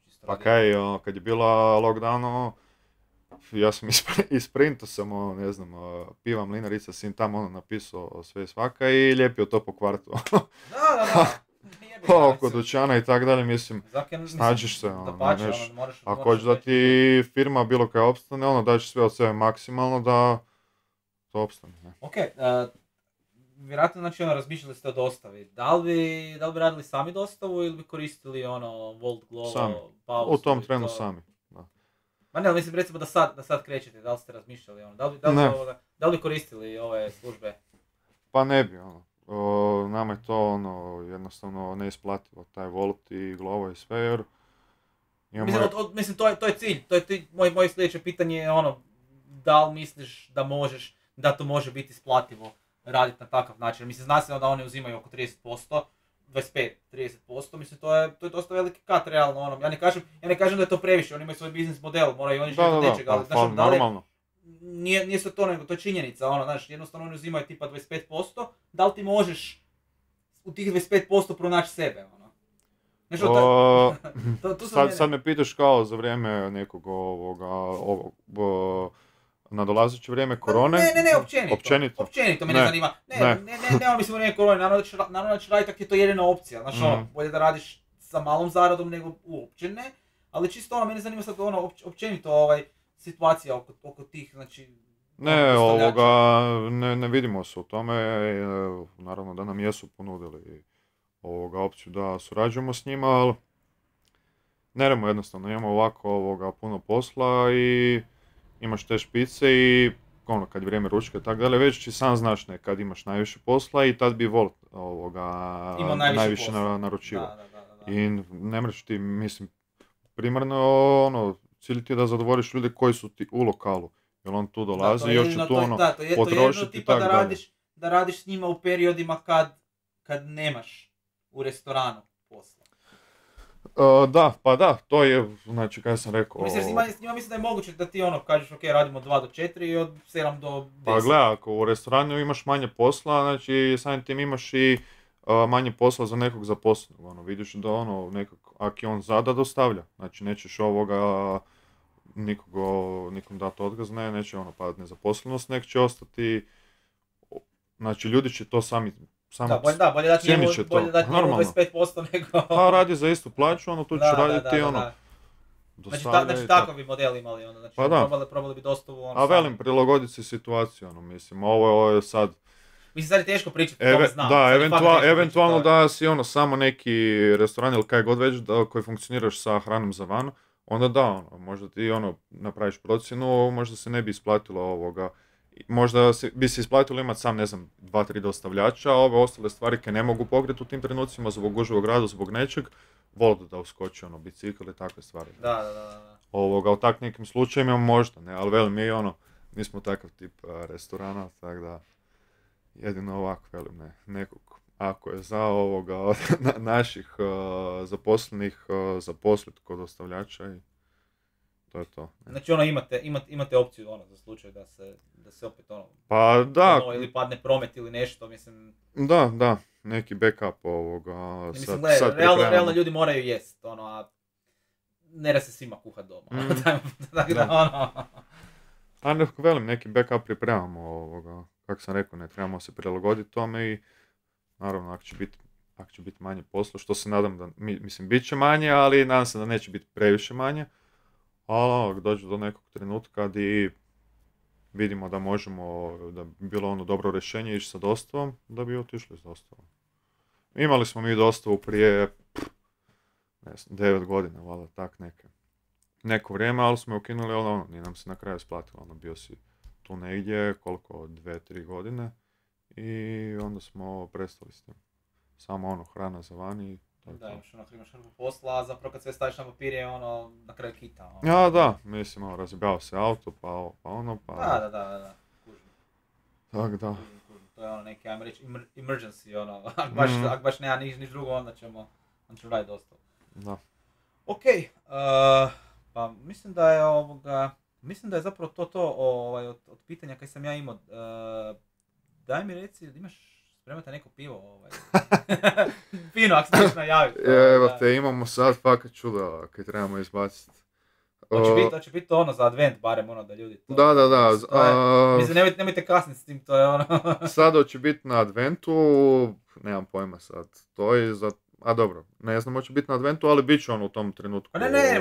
čisto pa kaj, kad je bila lockdown, ja sam isprintao sam, piva mlinarica, sin tamo napisao sve i svaka i lijepio to po kvartu. Da. Oko dućana i tak dalje, mislim, snađiš se, ako hoćeš da ti firma bilo kaj opstane, daš sve od sebe maksimalno da to opstane. Ne? Ok, vjerojatno, znači, razmišljali ste o dostavi, da li bi radili sami dostavu ili bi koristili Volt, Glovo, Paus? U tom trenu sami, da. Ma ne, ali mislim, recimo da sad krećete, da li ste razmišljali, da li bi koristili ove službe? Pa ne bi, nama je to jednostavno neisplativo, taj Volt i Glovo i sve, jer mislim, to je cilj, moje sljedeće pitanje je da li misliš da to može biti isplativo raditi na takav način. Mislim, zna se da oni uzimaju oko 30%, 25-30%, mislim, to je dosta veliki kat, realno, ja ne kažem da je to previše, oni imaju svoj biznis model, moraju oni živjeti od nečega, ali normalno. Nije se to nego, to je činjenica, jednostavno oni uzimaju tipa 25%, da li ti možeš u tih 25% pronaći sebe, Sad me pitaš kao za vrijeme nekog nadolazeće vrijeme korone? Ne, općenito me ne zanima. Ne, mislim u vrijeme korone, naravno da će raditi ako je to jedina opcija, bolje da radiš sa malom zaradom nego uopće ne, ali čisto mene zanima sad općenito situacija oko tih, znači... Ne vidimo se u tome, naravno da nam jesu ponudili opciju da surađujemo s njima, ali neremo jednostavno, imamo ovako puno posla i imaš te špice i kad je vrijeme ručka i tako dalje, već ti sam znaš kad imaš najviše posla i tad bi Volt najviše naručivao. Da. I ne mreš ti, mislim, primarno cilj ti je da zadovoljiš ljude koji su ti u lokalu, jer on tu dolazi i još će tu potrošiti i tako dalje. Da radiš s njima u periodima kad nemaš u restoranu posla. Da, to je, znači, kada sam rekao... Mislim, s njima mislim da je moguće da ti kažeš, ok, radimo 2 do 4 i od 7 do 10. Pa gledaj, ako u restoranu imaš manje posla, znači, samim tim imaš i manje posla za nekog zaposlenog, vidiš da ako je on zada, dostavlja, znači, nećeš nikom dati otkaz, neće padati nezaposlenost, nek će ostati, znači, ljudi će to sami bolje dati njemu 25% nego... Pa radi za istu plaću, tu će raditi dostavlja. Znači takav bi model imali, znači probali bi dostavu... A velim, prilagoditi se situaciju, mislim, ovo je sad... Mislim, sad je teško pričati, to znam. Da, eventualno da si samo neki restoran ili kaj god već koji funkcioniraš sa hranom za van, onda da, možda ti napraviš procjenu, možda se ne bi isplatilo možda bi se isplatilo imati sam, 2-3 dostavljača, a ove ostale stvari koje ne mogu pokriti u tim trenucima zbog gužvog rada, zbog nečeg, Volt da uskoči, bicikl i takve stvari. Da. U tak nekim slučajima možda, ne, ali velim, mi smo takav tip restorana, tako da jedino ovako, velim, nekog, ako je za naših zaposlenih zaposliti kod dostavljača i to je to. Ne. Znači imate opciju za slučaj da se opet pa da, ili padne promet ili nešto, mislim. Da, neki backup mislim, realno ljudi moraju jest, a ne da se svima kuhat doma. A nekako velim, neki backup pripremamo kako sam rekao, ne trebamo se prilagoditi tome i naravno ako će biti manje posla, što se nadam da, mislim, bit će manje, ali nadam se da neće biti previše manje, ali ako dođe do nekog trenutka gdje vidimo da možemo, da bi bilo ono dobro rješenje ići sa dostavom, da bi otišli s dostavom. Imali smo mi dostavu prije, ne znam, 9 godina, valjda, tak neko vrijeme, ali smo je ukinuli, ali ono, nije nam se na kraju isplatilo, ono, bio si tu negdje, koliko, 2-3 godine, i onda smo prestali s tim. Samo ono, hrana za vani. Da, imaš hrpu posla, a zapravo kad sve staviš na papir je ono, na kraju kita. Ono. Ja, da, mislim, ono, razbijao se auto, pa ovo, pa ono, pa... Da, kužim. Tak, da. Kužim. To je ono neki, ajmo reći, emergency, ono, ak baš nema niš drugo, onda ćemo raditi dosta. Da. Ok, pa mislim da je zapravo to od pitanja kaj sam ja imao. Daj mi reci, imaš spremate neko pivo, Fino, ako se najaviti. Evo te, imamo sad fakat čudo kaj trebamo izbaciti. Hoće biti to ono za advent, barem ono da ljudi to... Da. Mislim, nemojte kasniti s tim, to je ono... Sad hoće biti na adventu, nemam pojma sad, to je za... A dobro, ne znam hoće biti na adventu, ali bit će on u tom trenutku. Ne,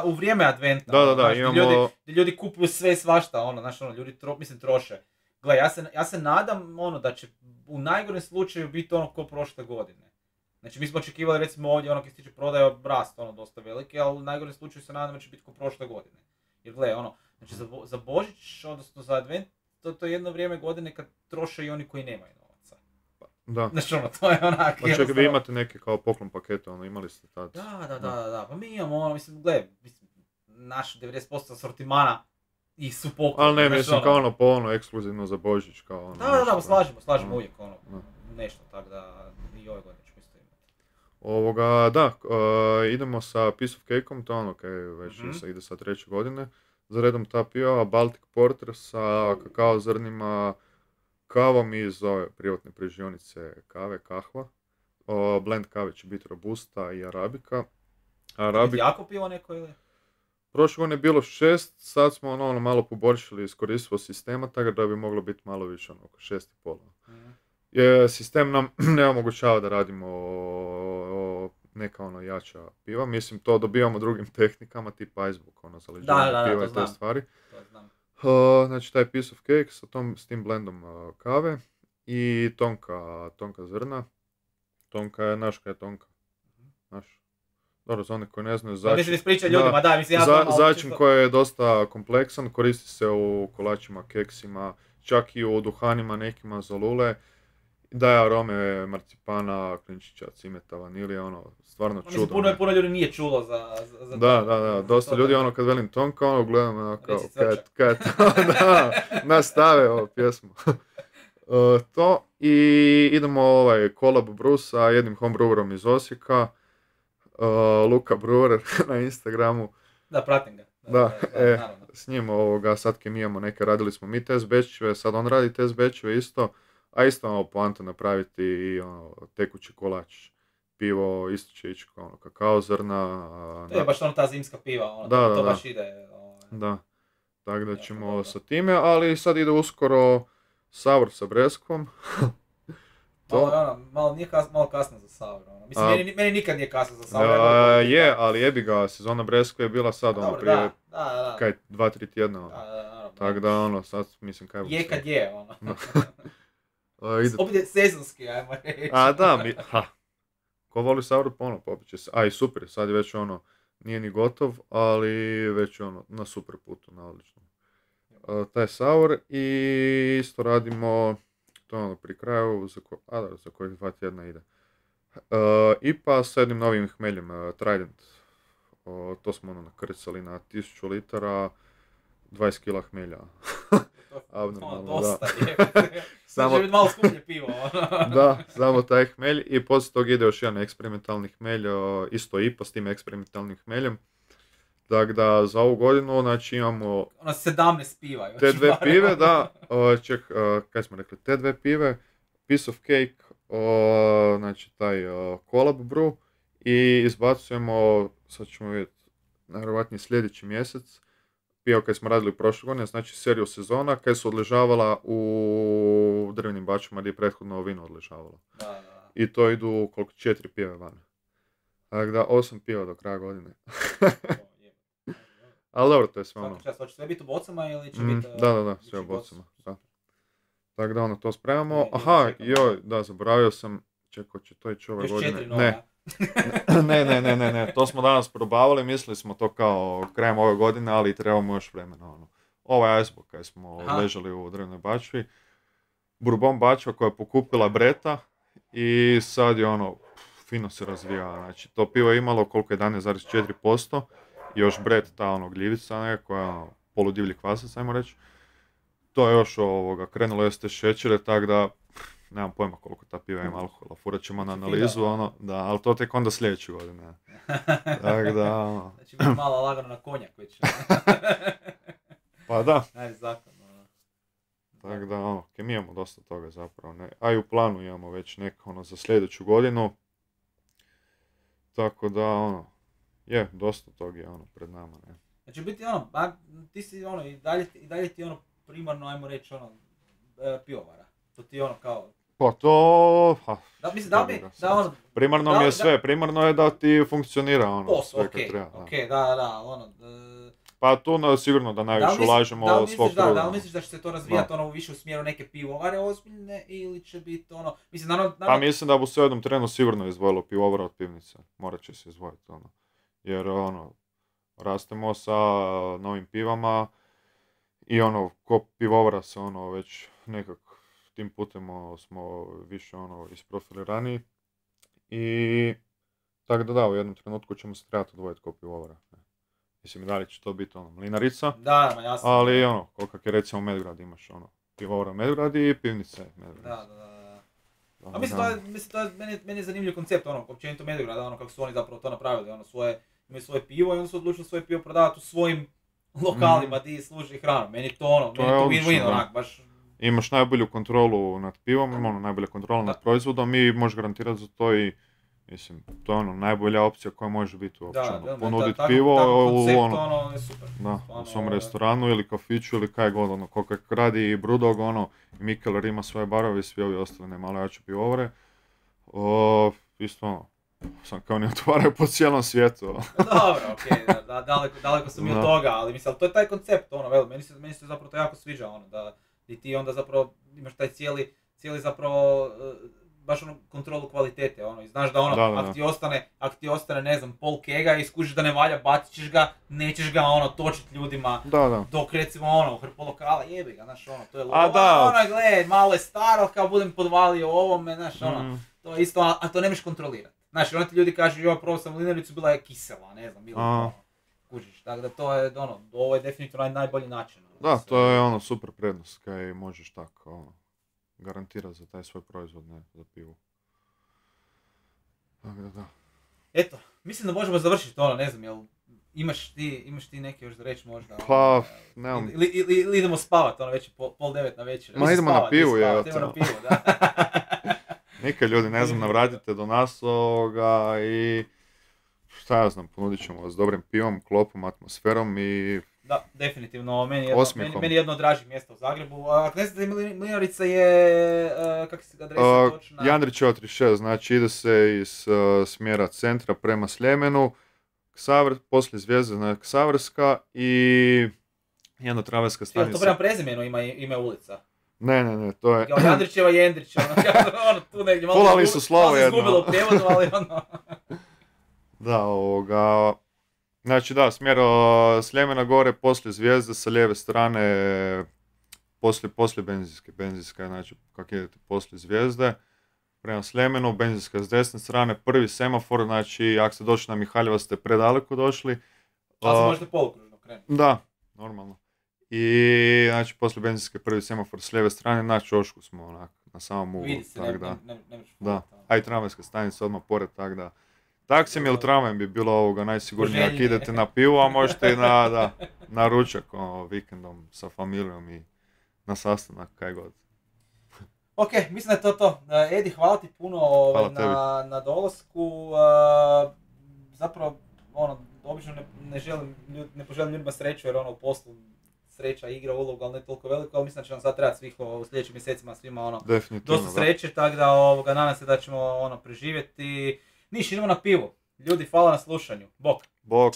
u vrijeme adventa. Da, imamo... Ljudi kupuju sve svašta, ono, znaš, ono, ljudi troše. Gle, ja se nadam, ono, da će u najgorem slučaju biti ono ko prošle godine. Znači, mi smo očekivali, recimo ovdje, ono, kad se tiče prodaje, rast, ono, dosta veliki, ali u najgorem slučaju se nadam da će biti ko prošle godine. Jer, gle, ono, znači, za Božić, odnosno za advent, to je jedno vrijeme godine kad troše i oni koji nemaju novaca. Da. Znači, ono, to je onak... Pa čekaj, vi imate neke kao poklon pakete, ono, imali ste tad? Da, pa mi imamo, ono, mislim, gle, naš 90% asortimana i su poklon. Ali ne, mislim, kao ono, po ono, ekskluzivno za Božić, kao ono... Da, slažemo uvijek, ono, nešto, tako da i ove godine ćemo isto imati. Idemo sa Piece of Cake-om, to ono, kaj već ide sa 3. godine. Za redom ta piva, Baltic Porter sa kakao zrnima, kavom iz ove privatne proizvodnje kave, kahva. Blend kave će biti robusta i arabika. Jako pivo neko ili? Prošle godine je bilo 6, sad smo ono malo poboljšali iskoristivost sistema, tako da bi moglo biti malo više, ono, oko 6,5. Sistem nam ne omogućava da radimo neka ono jača piva, mislim to dobivamo drugim tehnikama, tipa icebook, ono, za leđenje piva i te stvari. Znači taj Piece of Cake s tim blendom kave i tonka zrna. Tonka je, naš kaj je tonka? Naš. Dobro, za one koji ne znaju, začin koji je dosta kompleksan, koristi se u kolačima, keksima, čak i u duhanima nekima za lule. Daje arome marcipana, klinčića, cimeta, vanilije, ono, stvarno čudo. Puno ljudi nije čulo za Da, dosta ljudi, ono, kad velim tonka, ono, gledam, ono, kao, kaj da, nastave ovu pjesmu. To, i idemo collab brew sa jednim homebrewerom iz Osijeka, Luka Brewer na Instagramu. Da, pratim ga. S njim sad kemijamo neke, radili smo mi test batchove, sad on radi test batchove isto, a isto ono poanta napraviti i ono, tekući kolač. Pivo isto će ići kao ono, kakao zrna. To je baš ono ta zimska piva, ono, to baš ide. Da, tako da ćemo sa time, ali sad ide uskoro sour sa breskvom. Malo kasno za sour. Mislim, meni nikad nije kasno za sour. Ali jebi ga, sezona breskve je bila sad, ono, prije, kaj, 2-3 tjedna. Tako da, ono, sad, mislim, kaj... Je kad je, ono. Opet je sezonski, ajmo reći. Ko voli sour, ono, popit će se. I super, sad je već, ono, nije ni gotov, ali već, ono, na super putu, na odličnom. Taj sour i isto radimo... To je ono pri kraju, za kojih 2 tjedna ide. IPA sa jednim novim hmeljem, Trident. To smo ono nakrcali na 1000 litara, 20 kila hmelja. Dosta je. Samo će biti malo skuplje pivo. Da, samo taj hmelj i poslije toga ide još jedan eksperimentalni hmelj, isto IPA s tim eksperimentalnim hmeljem. Tako da za ovu godinu, znači imamo... 17 piva. Te dve pive, da. Kaj smo rekli? Te dve pive, Piece of Cake, znači taj collab brew i izbacujemo, sad ćemo vidjeti, najvjerojatnije sljedeći mjesec, piva koje smo radili prošle godine, znači seriju sezona, koje su odležavala u drvenim bačima gdje je prethodno vino odležavalo. Da. I to idu koliko 4 pive van. Tako da 8 piva do kraja godine. Ali dobro, to je sve ono. Svaki čas, hoće sve biti u bocama ili će biti... Da, sve u bocama. Da. Tako da ono, to spremamo. Aha, joj, da, zaboravio sam. Čekaj, će to ići ove godine. Ne, to smo danas probavali, mislili smo to kao krajem ove godine, ali trebamo još vremena. Ono. Ovaj iceberg kaj smo ležali u drvenoj bačvi. Bourbon bačva koja je pokupila Breta i sad je ono, fino se razvija. Znači, to pivo je imalo koliko 11,4%. I još Bret, ta ono gljivica koja je ono, poludivlji kvasac, ajmo reći. To je još krenulo jeste šećere, tako da nemam pojma koliko ta piva ima alkohola. Furat ćemo na analizu, ono, da, ali to tek onda sljedeće godine. Tako da, ono. Znači biti malo lagano na konjak već. Pa da. Ajde, zakon, ono. Tako da, ono, mi imamo dosta toga zapravo. Ne. A i u planu imamo već neko, ono, za sljedeću godinu. Tako da, ono, dosta toga je, ono, pred nama, ne. Znači biti, ono, ti si, ono, i dalje ti, ono, primarno, ajmo reći, ono, pivovara. To ti je ono kao... Pa to... Da, mislim, da ono... Primarno mi je sve, primarno je da ti funkcionira ono, sve kad treba. Okej, da, ono... Pa tu sigurno da najviše ulažemo svog truda. Da li misliš da će se to razvijati ono više u smjeru neke pivovare ozbiljne ili će biti ono... Mislim, naravno... Pa mislim da bu se u jednom trenu sigurno izdvojilo pivovara od pivnice. Morat će se izdvojiti ono. Jer ono, rastemo sa novim pivama i ono, ko pivovara se ono već nekako tim putem smo više ono isprofilirani i tako da u jednom trenutku ćemo se trebati odvojiti ko pivovara. Mislim, da li će to biti ono mlinarica, da, jasno. Ali ono, koliko je recimo Medgrad imaš ono, pivovara Medgrad i pivnice Medgrad. Da. A mislim, to je meni je zanimljiv koncept, ono, općenito Medgrada, ono, kako su oni zapravo to napravili, ono, imaju svoje pivo i onda su odlučili svoje pivo prodavati u svojim lokalima gdje služi hranu. Meni to win-win, onak, baš... Imaš najbolju kontrolu nad pivom, ono, najbolja kontrola nad proizvodom i možeš garantirati za to i, mislim, to je ono, najbolja opcija koja može biti uopće, ponuditi pivo ono, je super. Da, u svom restoranu ili kafiću ili kaj god, ono, koliko radi i Brewdog, ono, i Mikkeller ima svoje barove i svi ovi ostali nemalo jače pivovare. Isto ono, sam kao ne otvaraju po cijelom svijetu. Dobro, okej, daleko sam i od toga, ali mislim, to je taj koncept, ono, vel, meni se zapravo to jako sviđa, ono, da ti onda zapravo imaš taj cijeli zapravo, baš ono kontrolu kvalitete, ono, i znaš da ono, ako ti ostane, ne znam, pol kega i skužiš da ne valja, bacit ćeš ga, nećeš ga, ono, točit ljudima, dok recimo, ono, u hrpu lokala, jebi ga, znaš, ono, to je ono, gled, malo je staro, kao budem podvalio ovome, znaš, ono, to je isto, a to ne možeš kontrolirati. Znaš, onda ti ljudi kažu, joj, probao sam linaricu, bila je kisela, ne znam, bilo ono, kužiš, tako da to je, ono, ovo je definitivno najbolji način. Ono, da, to je ono super prednost, kaj možeš tako, ono, garantirati za taj svoj proizvod, ne, za pivu. Tako da. Eto, mislim da možemo završiti ono, ne znam, jel imaš ti neke još da reći možda? Pa, nemam. Ili idemo spavat, ono, već je 8:30 na večer. Ma idemo na pivu, idemo na pivu, da. Nikad ljudi, ne znam, navratite do nas i šta ja znam, ponudit ćemo vas dobrim pivom, klopom, atmosferom i... Da, definitivno, meni je jedno od dražih mjesta u Zagrebu. Ako ne znate, mlinarica je, kako se adresa točna? Jandrićeva 36, znači ide se iz smjera centra prema Sljemenu, poslije Zvijezde, znači Ksaverska i jedna traverska stanica. To prema prezimenu ima ulica? Ne, to je... Jandrićeva, Jendrića, ono, tu negdje malo... Fulali su slovo jedno. Malo se izgubilo u prijevodu, ali ono... Da, znači da, smjer Sljemena gore, poslije Zvijezde, sa lijeve strane, poslije benzinske, znači kako idete poslije Zvijezde, prema Sljemenu, benzinska s desne strane, prvi semafor, znači ako ste došli na Mihaljeva ste predaleko došli. Ali se možete polukružno krenuti. Da, normalno. I znači poslije benzinske prvi semafor s lijeve strane, na Ćošku smo onak, na samom uglu. Vidi se, da. A i tramvajska stanica odmah pored, tako da. Taksim ili tramvajem bi bilo najsigurnije ako idete na pivu, a možete i na ručak vikendom sa familijom i na sastanak, kaj god. Ok, mislim da je to. Edi, hvala ti puno na dolasku. Zapravo, obično ne poželim ljudima sreću jer ono u poslu sreća igra ulogu, ali ne toliko veliko, ali mislim da će nam sad trebati svih u sljedećim mjesecima svima ono dosta sreće, tako da nadam se da ćemo preživjeti. Niš, idemo na pivo. Ljudi, hvala na slušanju. Bok! Bok!